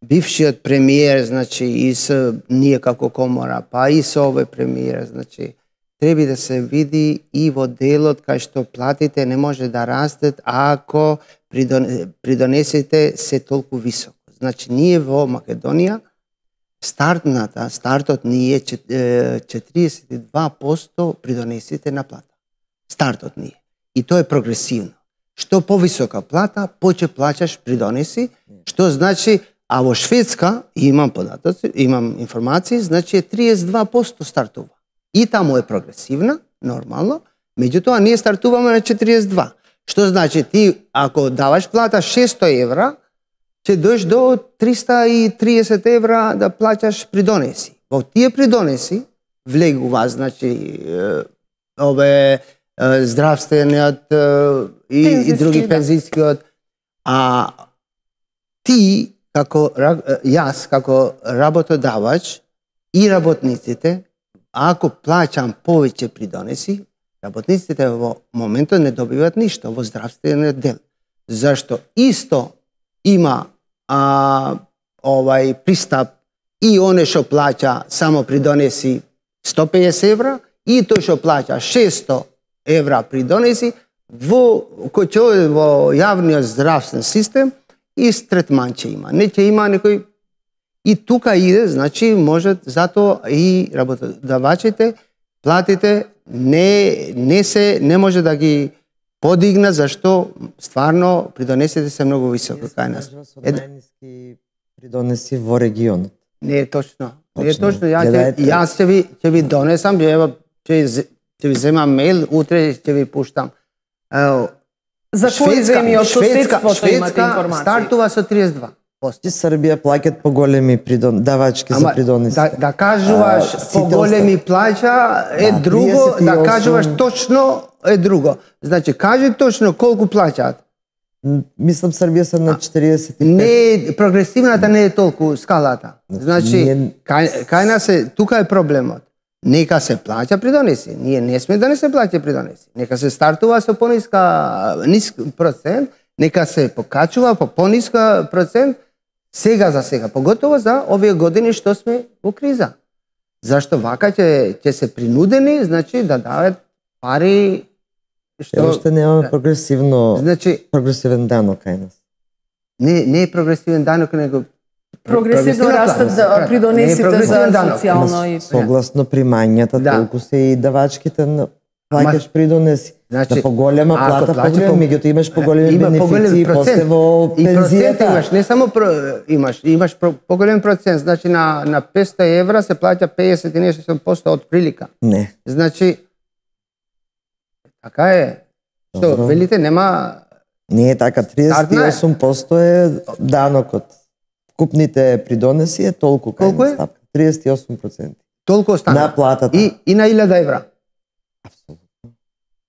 бившиот премиер, значи, и со ние како комора, па и со овој премиер, значи, треба да се види и во делот кај што платите не може да растат ако придонесите се толку високо. Значи, ние во Македонија, стартната, стартот ни е четириесет и два проценти придонесите на плата. Стартот ни е. И тоа е прогресивно. Што повисока плата, повеќе плаќаш придонеси, што значи, а во Шведска, имам податоци, имам информации, значи е триесет и два проценти стартува. И таму е прогресивна, нормално, меѓутоа ние стартуваме на четириесет и два. Што значи ти, ако даваш плата шестост евра, ќе дојдеш до триста и триесет евра да плаќаш придонеси. Во тие придонеси, влегува, значи ове здравствениот и, и други пензискиот, а ти како јас како работодавач и работниците, ако плаќам повеќе придонеси, работниците во моментот не добиваат ништо во здравствениот дел. Зашто исто има а, овај пристап и оне што плаќа само придонеси сто пеесет евра и тој што плаќа шесто евра придонеси во кој ќе во јавниот здравствен систем и третман ќе има. Не ќе има некој и тука иде, значи може затоа и работодавачите платите не не се не може да ги подигна зашто стварно придонесите се многу високо кај нас. Е најниски придонеси во регионот. Не е точно. Не е точно. Ја ќе, јас ќе ви ќе ви донесам, ќе ќе ќе ви земам мејл, утре ќе ви пуштам. За кои земји од соседството имате информација? Стартува со триесет два проценти. Србија плаќаат поголеми придон давачки за придонесите. Да, да кажуваш а, поголеми плаќа е да, друго, да кажуваш точно е друго. Значи кажи точно колку плаќаат. Мислам Србија се на четириесет и пет. Не, прогресивната не е толку скалата. Значи не... кај, кај нас е тука е проблемот. Нека се плаќа придонеси. Ние не сме да не се плаќа придонеси. Нека се стартува со пониска ниск процент, нека се покачува по пониска процент сега за сега, поготово за овие години што сме во криза. Зашто вака ќе ќе се принудени, значи да дават пари што уште немаме прогресивно, значи прогресивен данок кај нас. Не не е прогресивен данок, него прогресивно растат да придонесите за социјално и согласно примањата, да. Толку се и давачките на плаќаш придонеси. Значи, да поголема плата, поголема, меѓуто имаш поголеми бенефиции после во пензијата. Имаш, не само про, имаш, имаш про, поголем процент, значи на на петсто евра се плаќа пеесет и нешто проценти од прилика. Не. Значи така е. Што добро. Велите нема. Не е така, триесет и осум проценти е данокот. Купните придонеси е толку кај колку е? триесет и осум проценти. Толку остана. На платата. И и на илјада евра. Апсолутно.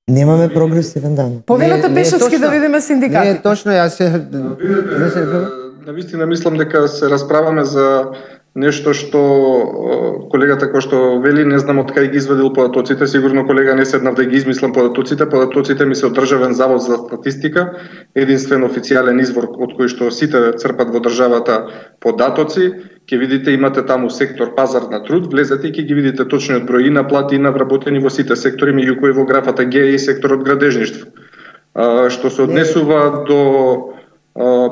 Немаме прогресивен данок. Повелете Пешевски да видиме синдикатите. Не е точно, јас се навистина мислам дека се расправаме за нешто што колегата кој што вели, не знам од кај ги извадил податоците, сигурно колега не седнав да ги измислам податоците, податоците ми се од Државен завод за статистика, единствен официјален извор од кој што сите црпат во државата податоци, ќе видите имате таму сектор пазар на труд, влезете и ќе ги видите точниот број и на плати и на вработени во сите сектори, меѓу кои во графата Г и секторот градежништво. А, што се однесува до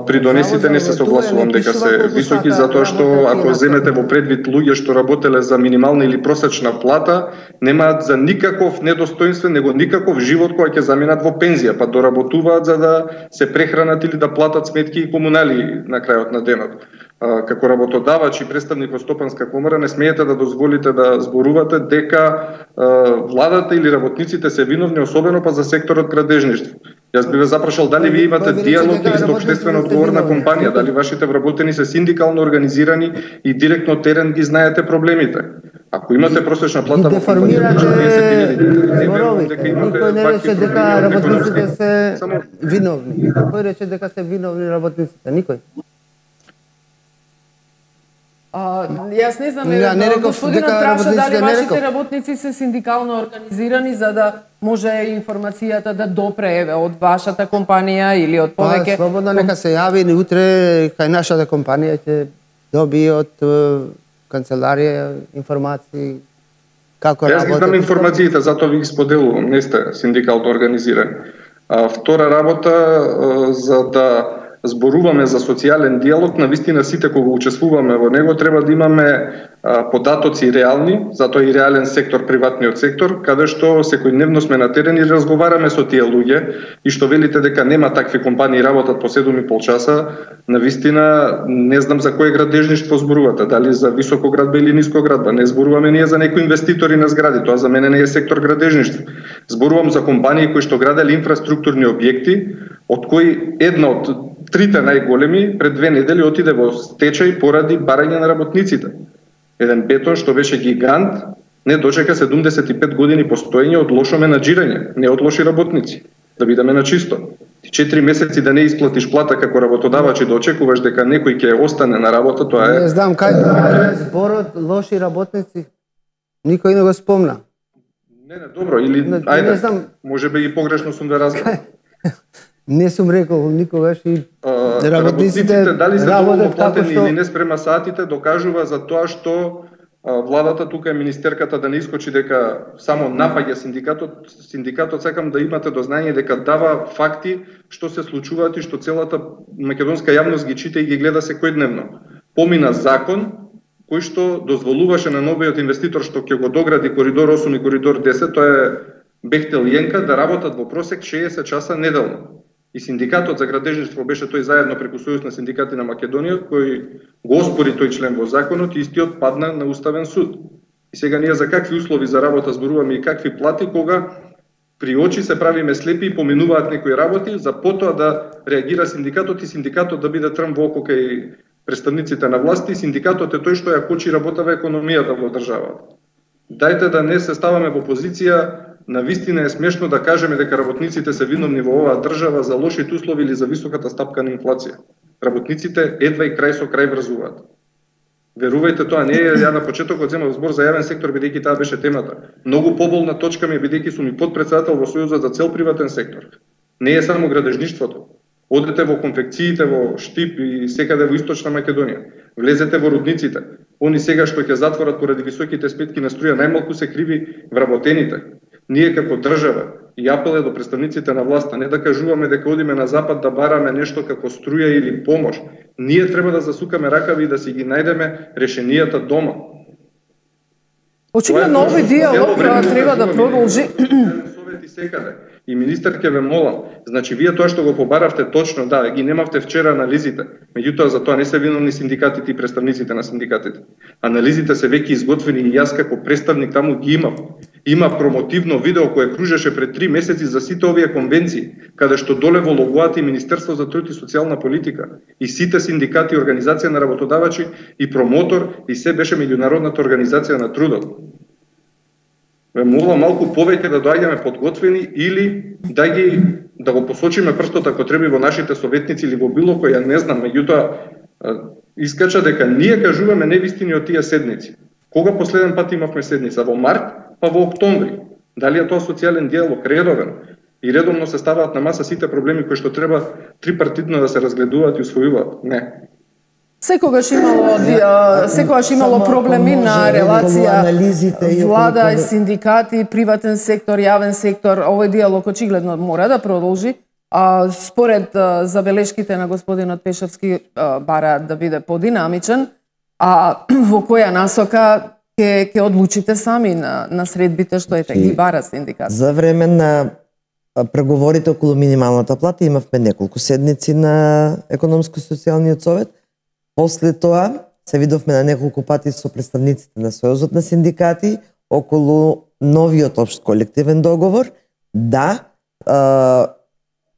придонесите, не се согласувам дека се високи, затоа што ако земете во предвид луѓе што работеле за минимална или просечна плата, немаат за никаков недостоинствен, него никаков живот кој ќе заминат во пензија, па доработуваат за да се прехранат или да платат сметки и комунали на крајот на денот. Како работодавач и представник од Стопанска комора не смеете да дозволите да зборувате дека владата или работниците се виновни, особено па за секторот градежништво. Јас би ве запрашал дали вие имате диалог или сте општествено одговорна компанија, дали вашите вработени се синдикално организирани и директно терен ги знаете проблемите. Ако имате просечна плата во компанија, никој не рече дека работниците се виновни. Кој рече дека се виновни работниците? Никој. А, јас не знам, ja, не господинот праша дали вашите не работници се синдикално организирани за да може информацијата да допре еве од вашата компанија или од повеќе. Па, слободно нека се јави и утре кај нашата компанија ќе доби од канцеларија информации како работат. Јас ги знам информациите, затоа ви ги споделувам, не сте синдикално организирани. А, втора работа, за да зборуваме за социјален диалог, навистина сите кога учествуваме во него треба да имаме а, податоци реални, затоа и реален сектор, приватниот сектор, каде што секојдневно сме на терен и разговараме со тие луѓе и што велите дека нема такви компании работат по седум и пол часа, навистина не знам за кој градежништво зборувате, дали за високоградба или нискоградба, не зборуваме ние за некои инвеститори на згради, тоа за мене не е сектор градежништво. Зборувам за компании кои што граделе инфраструктурни објекти, од кои една од трите најголеми пред две недели отиде во стечај поради барање на работниците. Еден бетон што беше гигант, Не дочека седумдесет и пет години постоење од лошо менаџирање, не од лоши работници. Да бидеме на чисто. Ти четири месеци да не исплатиш плата како работодавач и да очекуваш дека некој ќе остане на работа, тоа е... Не знам кај зборот лоши работници. Никој не го спомна. Не, не, добро, или не, ајде, не знам... може би и погрешно сум ве разбрал. Не сум рекол никогаш и а, работниците дали се доволно платени што... или не спрема саатите, докажува за тоа што а, владата, тука е министерката да не искочи дека само напаѓа синдикатот. Синдикатот сакам да имате до знање дека дава факти што се случуваат и што целата македонска јавност ги чита и ги гледа секојдневно. Помина закон кој што дозволуваше на новиот инвеститор што ќе го догради коридор осум и коридор десет, тоа е Бехтел и Енка, да работат во просек шеесет часа неделно. И синдикатот за градежништво беше тој заедно преку Сојуз на синдикати на Македонија, кој го оспори тој член во законот и истиот падна на Уставен суд. И сега ние за какви услови за работа зборуваме и какви плати, кога при очи се правиме слепи и поминуваат некои работи, за потоа да реагира синдикатот и синдикатот да биде трн во око кај представниците на власти. Синдикатот е тој што ја кочи работава економијата во државата. Дајте да не се ставаме во позиција. На вистина е смешно да кажеме дека работниците се виновни во оваа држава за лошите услови или за високата стапка на инфлација. Работниците едва и крај со крај врзуваат. Верувајте, тоа не е, ја на почетокот земав збор за јавен сектор бидејќи таа беше темата. Многу поболна точка ми е бидејќи сум и подпредседател во Сојузот за цел приватен сектор. Не е само градежништвото. Одете во конфекциите во Штип и секаде во Источна Македонија. Влезете во рудниците. Они сега што ќе затворат поради високите спетки на струја, најмалку се криви вработените. Ние како држава и апел е до представниците на власта, не да кажуваме дека одиме на запад да бараме нешто како струја или помош. Ние треба да засукаме ракави и да си ги најдеме решенијата дома. Очигледно овој диалог треба да продолжи. Совети секаде. И министер ќе ве молам, значи вие тоа што го побаравте точно, да, ги немавте вчера анализите. Меѓутоа за тоа не се виновни синдикатите и представниците на синдикатите. Анализите се веќе изготвени и јас како представник таму ги имав. Има промотивно видео кое кружеше пред три месеци за сите овие конвенции, каде што доле во логоата и Министерство за труд и социјална политика, и сите синдикати и организација на работодавачи и промотор, и се беше меѓународната организација на трудот. Ве молам малку повеќе да доаѓаме подготвени или да ги да го посочиме прстот ако треба во нашите советници или во било кој, ја не знам, меѓутоа искача дека ние кажуваме невистини од тие седници. Кога последен пат имавме седница? Во март, па во октомври. Дали е тоа социјален диалог редовен? И редовно се ставаат на маса сите проблеми кои што треба трипартитно да се разгледуваат и усвојуваат? Не. Секогаш имало секогаш имало проблеми на релација влада и синдикати, приватен сектор, јавен сектор. Овој диалог очигледно мора да продолжи. А, според а, забелешките на господинот Пешевски а, бараат да биде подинамичен, а во која насока ќе ќе одлучите сами на на средбите што ете ги бара синдикат. За време на преговорите околу минималната плата имавме неколку седници на економско-социјалниот совет. После тоа се видовме на неколку пати со представниците на Сојузот на синдикати околу новиот општ колективен договор. Да, а,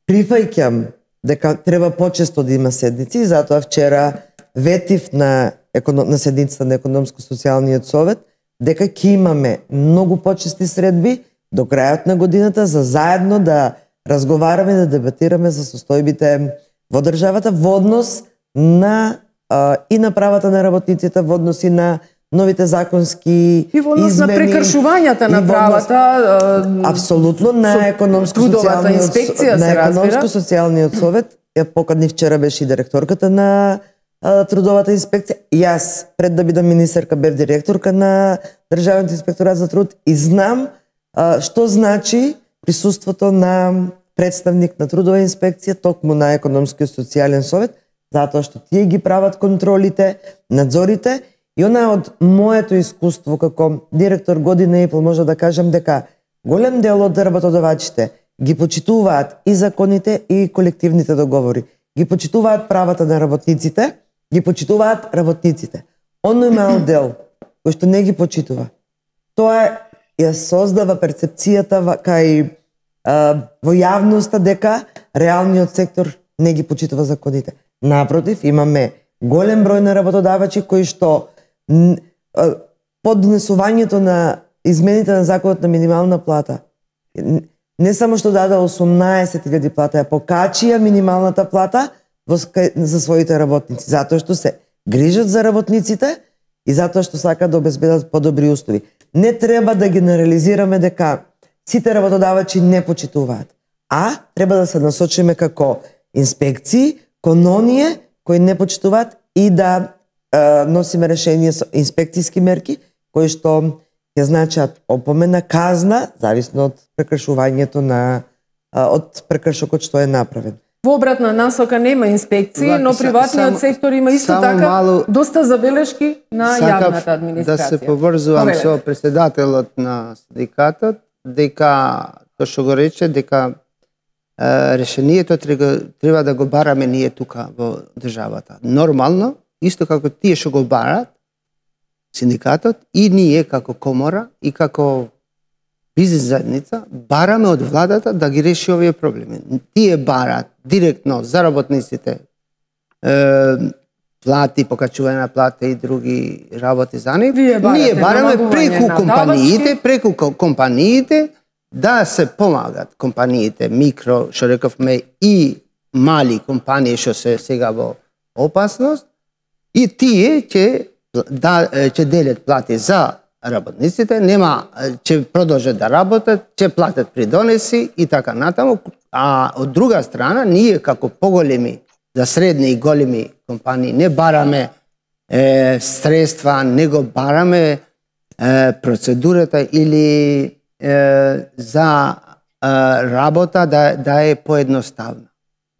прифаќам дека треба почесто да има седници, затоа вчера ветив на, на седницата на економско-социјалниот совет дека ќе имаме многу почести средби до крајот на годината за заедно да разговараме, да дебатираме за состојбите во државата во однос на а, и на правата на работниците, во однос и на новите законски и во однос измени, на прекршувањата на правата, а, апсолутно на економско-социјалниот на економско-социјалниот совет. Ја покани вчера беше и директорката на а, трудовата инспекција. Јас пред да бидам министерка бев директорка на Државниот инспекторат за труд и знам а, што значи присуството на представник на трудова инспекција токму на економскиот социјален совет, затоа што тие ги прават контролите, надзорите. И она од моето искуство како директор година и пол може да кажам дека голем дел од работодавачите ги почитуваат и законите и колективните договори. Ги почитуваат правата на работниците, ги почитуваат работниците. Оној мал дел кој што не ги почитува, тоа ја создава перцепцијата кај а, во јавноста дека реалниот сектор не ги почитува законите. Напротив, имаме голем број на работодавачи кои што поднесувањето на измените на законот на минимална плата. Не само што даде осумнаесет илјади плата, ја покачија минималната плата во, за своите работници, затоа што се грижат за работниците и затоа што сакаат да обезбедат подобри услови. Не треба да генерализираме дека сите работодавачи не почитуваат, а треба да се насочиме како инспекции кон оние кои не почитуваат и да е, носиме решение со инспекцијски мерки кои што ќе значат опомена, казна, зависно од прекршувањето на од прекршокот што е направен. Во обратна насока нема инспекции, Вака, но приватниот само, сектор има исто така малу, доста забелешки на јавната администрација. Да се поврзувам Повелете. со председателот на синдикатот, дека тоа што го рече, дека е, решението треба, треба да го бараме ние тука во државата. Нормално, исто како тие што го барат, синдикатот, и ние како комора и како бизнес заедница бараме од владата да ги реши овие проблеми. Тие барат директно за работниците е, плати, покачување на плата и други работи за нив. Ние бараме преку компаниите, преку компаниите да се помагат компаниите, микро, што рековме, и мали компании што се сега во опасност, и тие ќе да ќе делат плати за работниците, нема ќе продолжат да работат, ќе платат придонеси и така натаму, а од друга страна ние како поголеми, за средни и големи компании не бараме е, средства, не го бараме е, процедурата или е, за е, работа да да е поедноставна.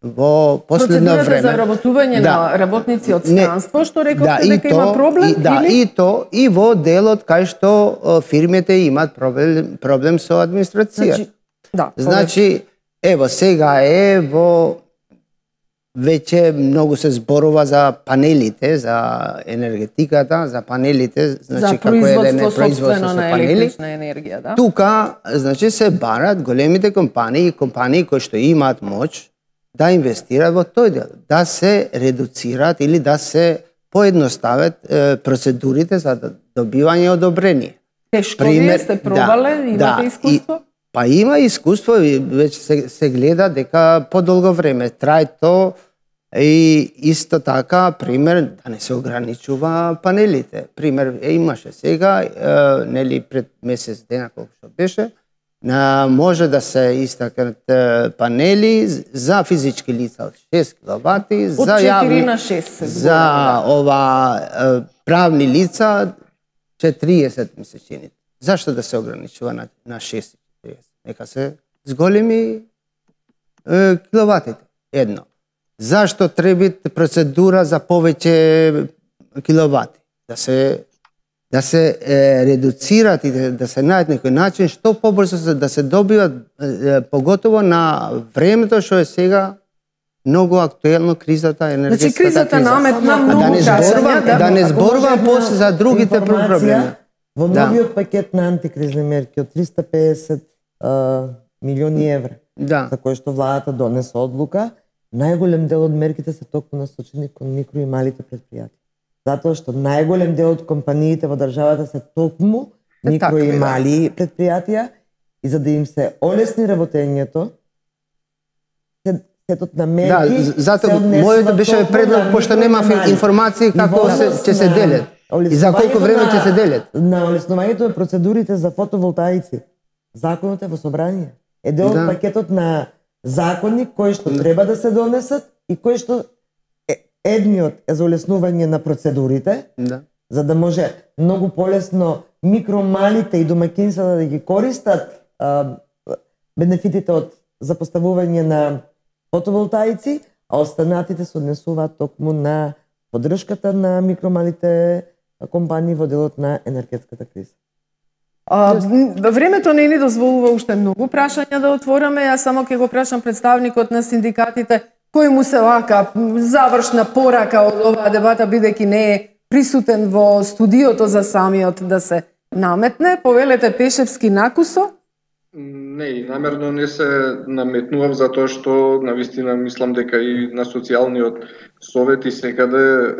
Во последно време процедурата за работување да, на работници од странство, што рековте да, дека то, има проблем, и, да, или? и то и во делот кај што фирмите имаат проблем проблем со администрација. Значи, да, значи ево сега е во веќе многу се зборува за панелите, за енергетиката, за панелите, значи за како еден производство на електрична енергија, да. Тука, значи се барат големите компании, компании кои што имаат моќ да инвестираат во тој дел, да се редуцираат или да се поедностават е, процедурите за добивање одобрение. Тешко вие сте пробале, да, имате да, искуство? И, па има искуство и веќе се, се гледа дека подолго време трае то и исто така, пример, да не се ограничува панелите. Пример, е, имаше сега, е, нели пред месец дена колку што беше, На, може да се истакнат панели за физички лица од шест киловати, од за четири јавни, на шест за да. ова правни лица четириесет ми се чини. Зашто да се ограничува на, на шест и четириесет? Нека се зголеми е, киловатите. Едно. Зашто треба процедура за повеќе киловати? Да се да се е, редуцират и да, да се најдат некој начин што побрзо да се добиват, е, поготово на времето што е сега многу актуелно кризата, енергетската значи, кризата криза. наметна многу да не зборувам, да, да не зборувам после за другите проблеми. Во новиот да. пакет на антикризни мерки од триста и песет а, милиони евра, да. за кои што владата донесе одлука, најголем дел од мерките се токму насочени кон микро и малите предпријатија. Затоа што најголем дел од компаниите во државата се токму микро и мали предпријатија и за да им се олесни работењето, сетот на мерки... Да, затоа моето беше предлог, пошто нема информации како се, ќе се делат. И за колку време ќе се делат. На олеснувањето на процедурите за фотоволтаици. Законот е во собрание. Е дел од да. пакетот на закони кои што треба да се донесат и кои што едниот е за олеснување на процедурите, да. за да може многу полесно микромалите и домаќинствата да ги користат а, бенефитите од запоставување на фотоволтаици, а останатите се однесуваат токму на поддршката на микромалите компании во делот на енергетската криза. А, времето не ни дозволува уште многу прашања да отвораме, јас само ќе го прашам представникот на синдикатите кој му се лака завршна порака од оваа дебата, бидејќи не е присутен во студиото за самиот да се наметне. Повелете Пешевски накусо, Не, и намерно не се наметнував затоа што навистина мислам дека и на социјалниот совет и секаде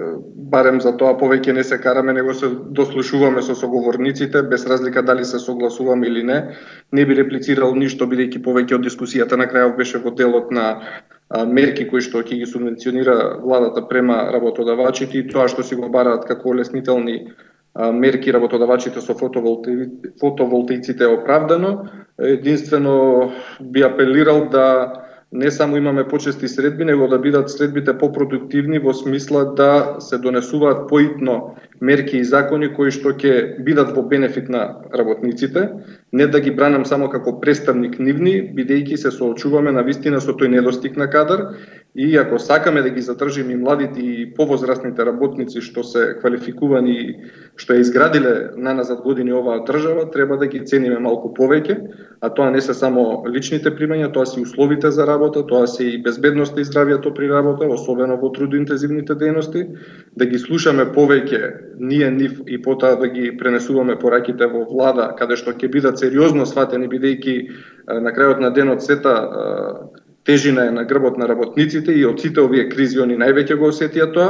барем за тоа повеќе не се караме, него се дослушуваме со соговорниците без разлика дали се согласуваме или не. Не би реплицирал ништо бидејќи повеќе од дискусијата на крајот беше во делот на мерки кои што ќе ги субвенционира владата према работодавачите и тоа што си го бараат како олеснителни мерки работодавачите со фотоволтаиците е оправдано. Единствено би апелирал да не само имаме почести средби, него да бидат средбите попродуктивни во смисла да се донесуваат поитно мерки и закони кои што ќе бидат во бенефит на работниците, не да ги бранам само како представник нивни, бидејќи се соочуваме на вистина со тој недостиг на кадар и ако сакаме да ги задржиме и младите и повозрастните работници што се квалификувани, што е изградиле наназад години оваа држава, треба да ги цениме малку повеќе, а тоа не се само личните примања, тоа се и условите за работа, тоа се и безбедноста и здравјето при работа, особено во трудоинтензивните дејности, да ги слушаме повеќе ние нив и потоа да ги пренесуваме пораките во влада, каде што ќе бидат сериозно сватени, бидејќи на крајот на денот сета тежина е на грбот на работниците и од сите овие кризи они највеќе го осетија тоа,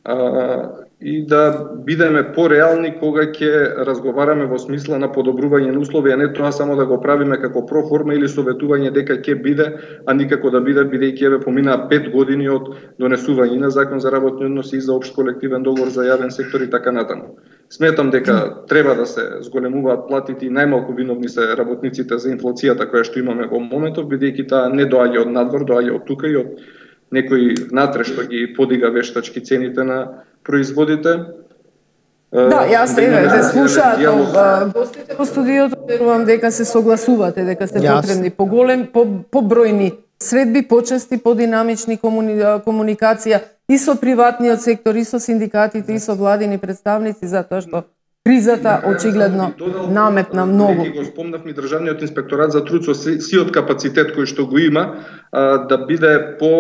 а, и да бидеме пореални кога ќе разговараме во смисла на подобрување на услови, а не тоа само да го правиме како проформа или советување дека ќе биде, а никако да биде, бидејќи еве поминаа пет години од донесување на закон за работни односи и за општ колективен договор за јавен сектор и така натаму. Сметам дека треба да се зголемуваат платите и најмалку виновни се работниците за инфлацијата која што имаме во моментов, бидејќи таа не доаѓа од надвор, доаѓа од тука и од некој внатре што ги подига вештачки цените на производите. Да, јас еве да слушаат гостите во студиото, верувам дека се согласувате дека се потребни поголем, по побројни средби, почести, подинамични комуни... комуникација и со приватниот сектор, и со синдикатите, и со владини представници, затоа што кризата очигледно наметна многу. Го спомнавме државниот инспекторат за труд со сиот капацитет кој што го има, да биде по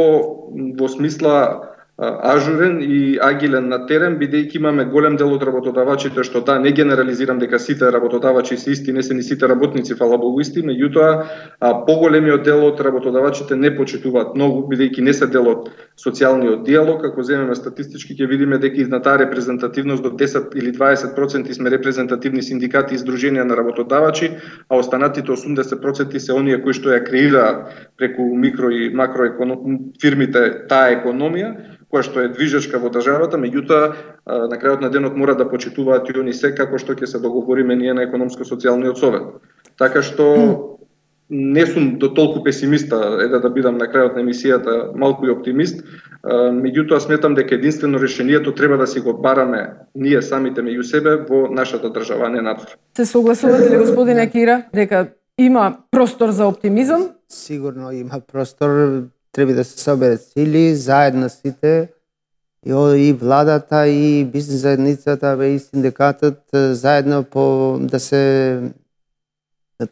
во смисла ажурен и агилен на терен, бидејќи имаме голем дел од работодавачите што да, не генерализирам дека сите работодавачи се исти, не се ни сите работници, фала Богу, исти, меѓутоа поголемиот дел од работодавачите не почитуваат многу, бидејќи не се дел од социјалниот диалог. Ако земеме статистички ќе видиме дека изна таа репрезентативност до десет или дваесет проценти сме репрезентативни синдикати и здруженија на работодавачи, а останатите осумдесет проценти се оние кои што ја креираат преку микро и макро фирмите таа економија, која што е движечка во државата, меѓутоа на крајот на денот мора да почитуваат и они се како што ќе се договориме ние на економско-социјалниот совет. Така што не сум до толку песимиста, еда да бидам на крајот на емисијата малку и оптимист, меѓутоа сметам дека единствено решението треба да си го бараме ние самите меѓу себе во нашата држава, не надвор. Се согласувате ли, господине Кира, дека има простор за оптимизам? Сигурно има простор. Треба да се соберат сили, заедно сите, и владата, и бизнес заедницата, и синдикатот, заедно по, да се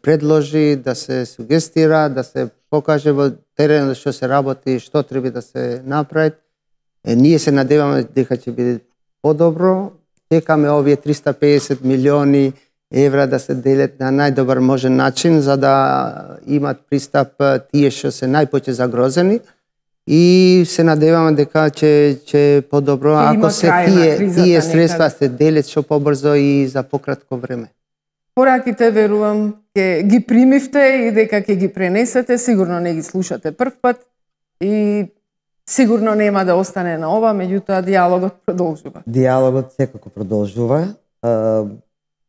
предложи, да се сугестира, да се покаже во терен што се работи, што треба да се направи. Е, ние се надеваме дека ќе биде подобро. Чекаме овие триста и песет милиони евра да се делат на најдобар можен начин, за да имат пристап тие што се најпоќе загрозени, и се надеваме дека ќе ќе подобро ако се тие тие средства се делат што побрзо и за пократко време. Пораките, верувам, ќе ги примивте и дека ќе ги пренесете, сигурно не ги слушате прв пат и сигурно нема да остане на ова, меѓутоа диалогот продолжува. Диалогот секако продолжува.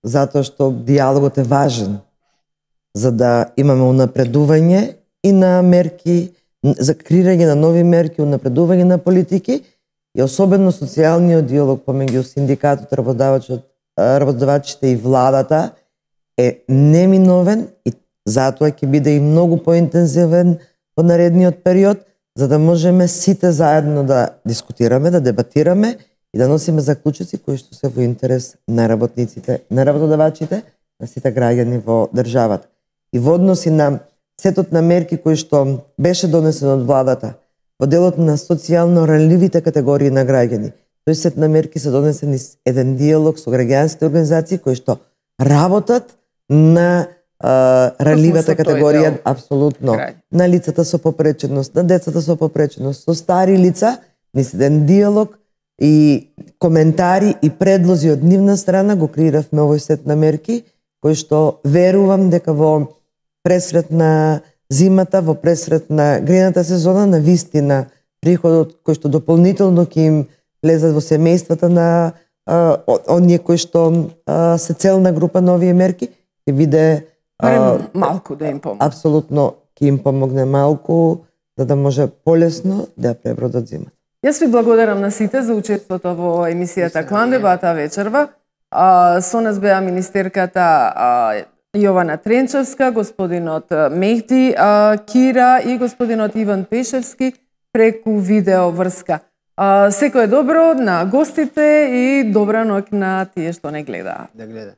Затоа што диалогот е важен за да имаме унапредување и на мерки, за креирање на нови мерки, унапредување на политики и особено социјалниот диалог помеѓу синдикатот, работодавачот, работодавачите и владата е неминовен и затоа ќе биде и многу поинтензивен во наредниот период, за да можеме сите заедно да дискутираме, да дебатираме и да носиме заклучоци кои што се во интерес на работниците, на работодавачите, на сите граѓани во државата. И во односи на сетот на мерки кои што беше донесен од владата во делот на социјално ранливите категории на граѓани, тој сет на мерки се донесени еден диалог со граѓанските организации кои што работат на а, ранливата Пропуснато категорија, е дел апсолутно. крај. На лицата со попреченост, на децата со попреченост, со стари лица, мислен диалог и коментари и предлози од нивна страна го креиравме овој сет на мерки, кој што верувам дека во пресрет на зимата, во пресрет на грејната сезона, на вистина приходот кој што дополнително ќе им влезат во семејствата на а, оние кои што а, се целна група на овие мерки, ќе биде Барем малку да им помогне. апсолутно ќе им помогне малку, за да може полесно да ја пребродат зимата. Јас ви благодарам на сите за учеството во емисијата Клан дебата вечерва. А, со нас беа министерката а, Јована Тренчевска, господинот Мехди а, Кира и господинот Иван Пешевски преку видео врска. А, секој е добро на гостите и добра ноќ на тие што не гледаат. Да гледа.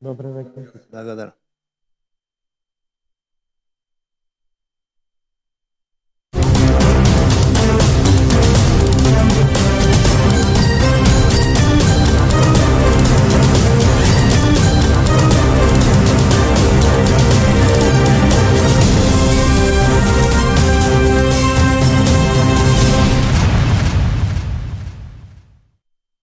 Добра ноќ. Благодарам.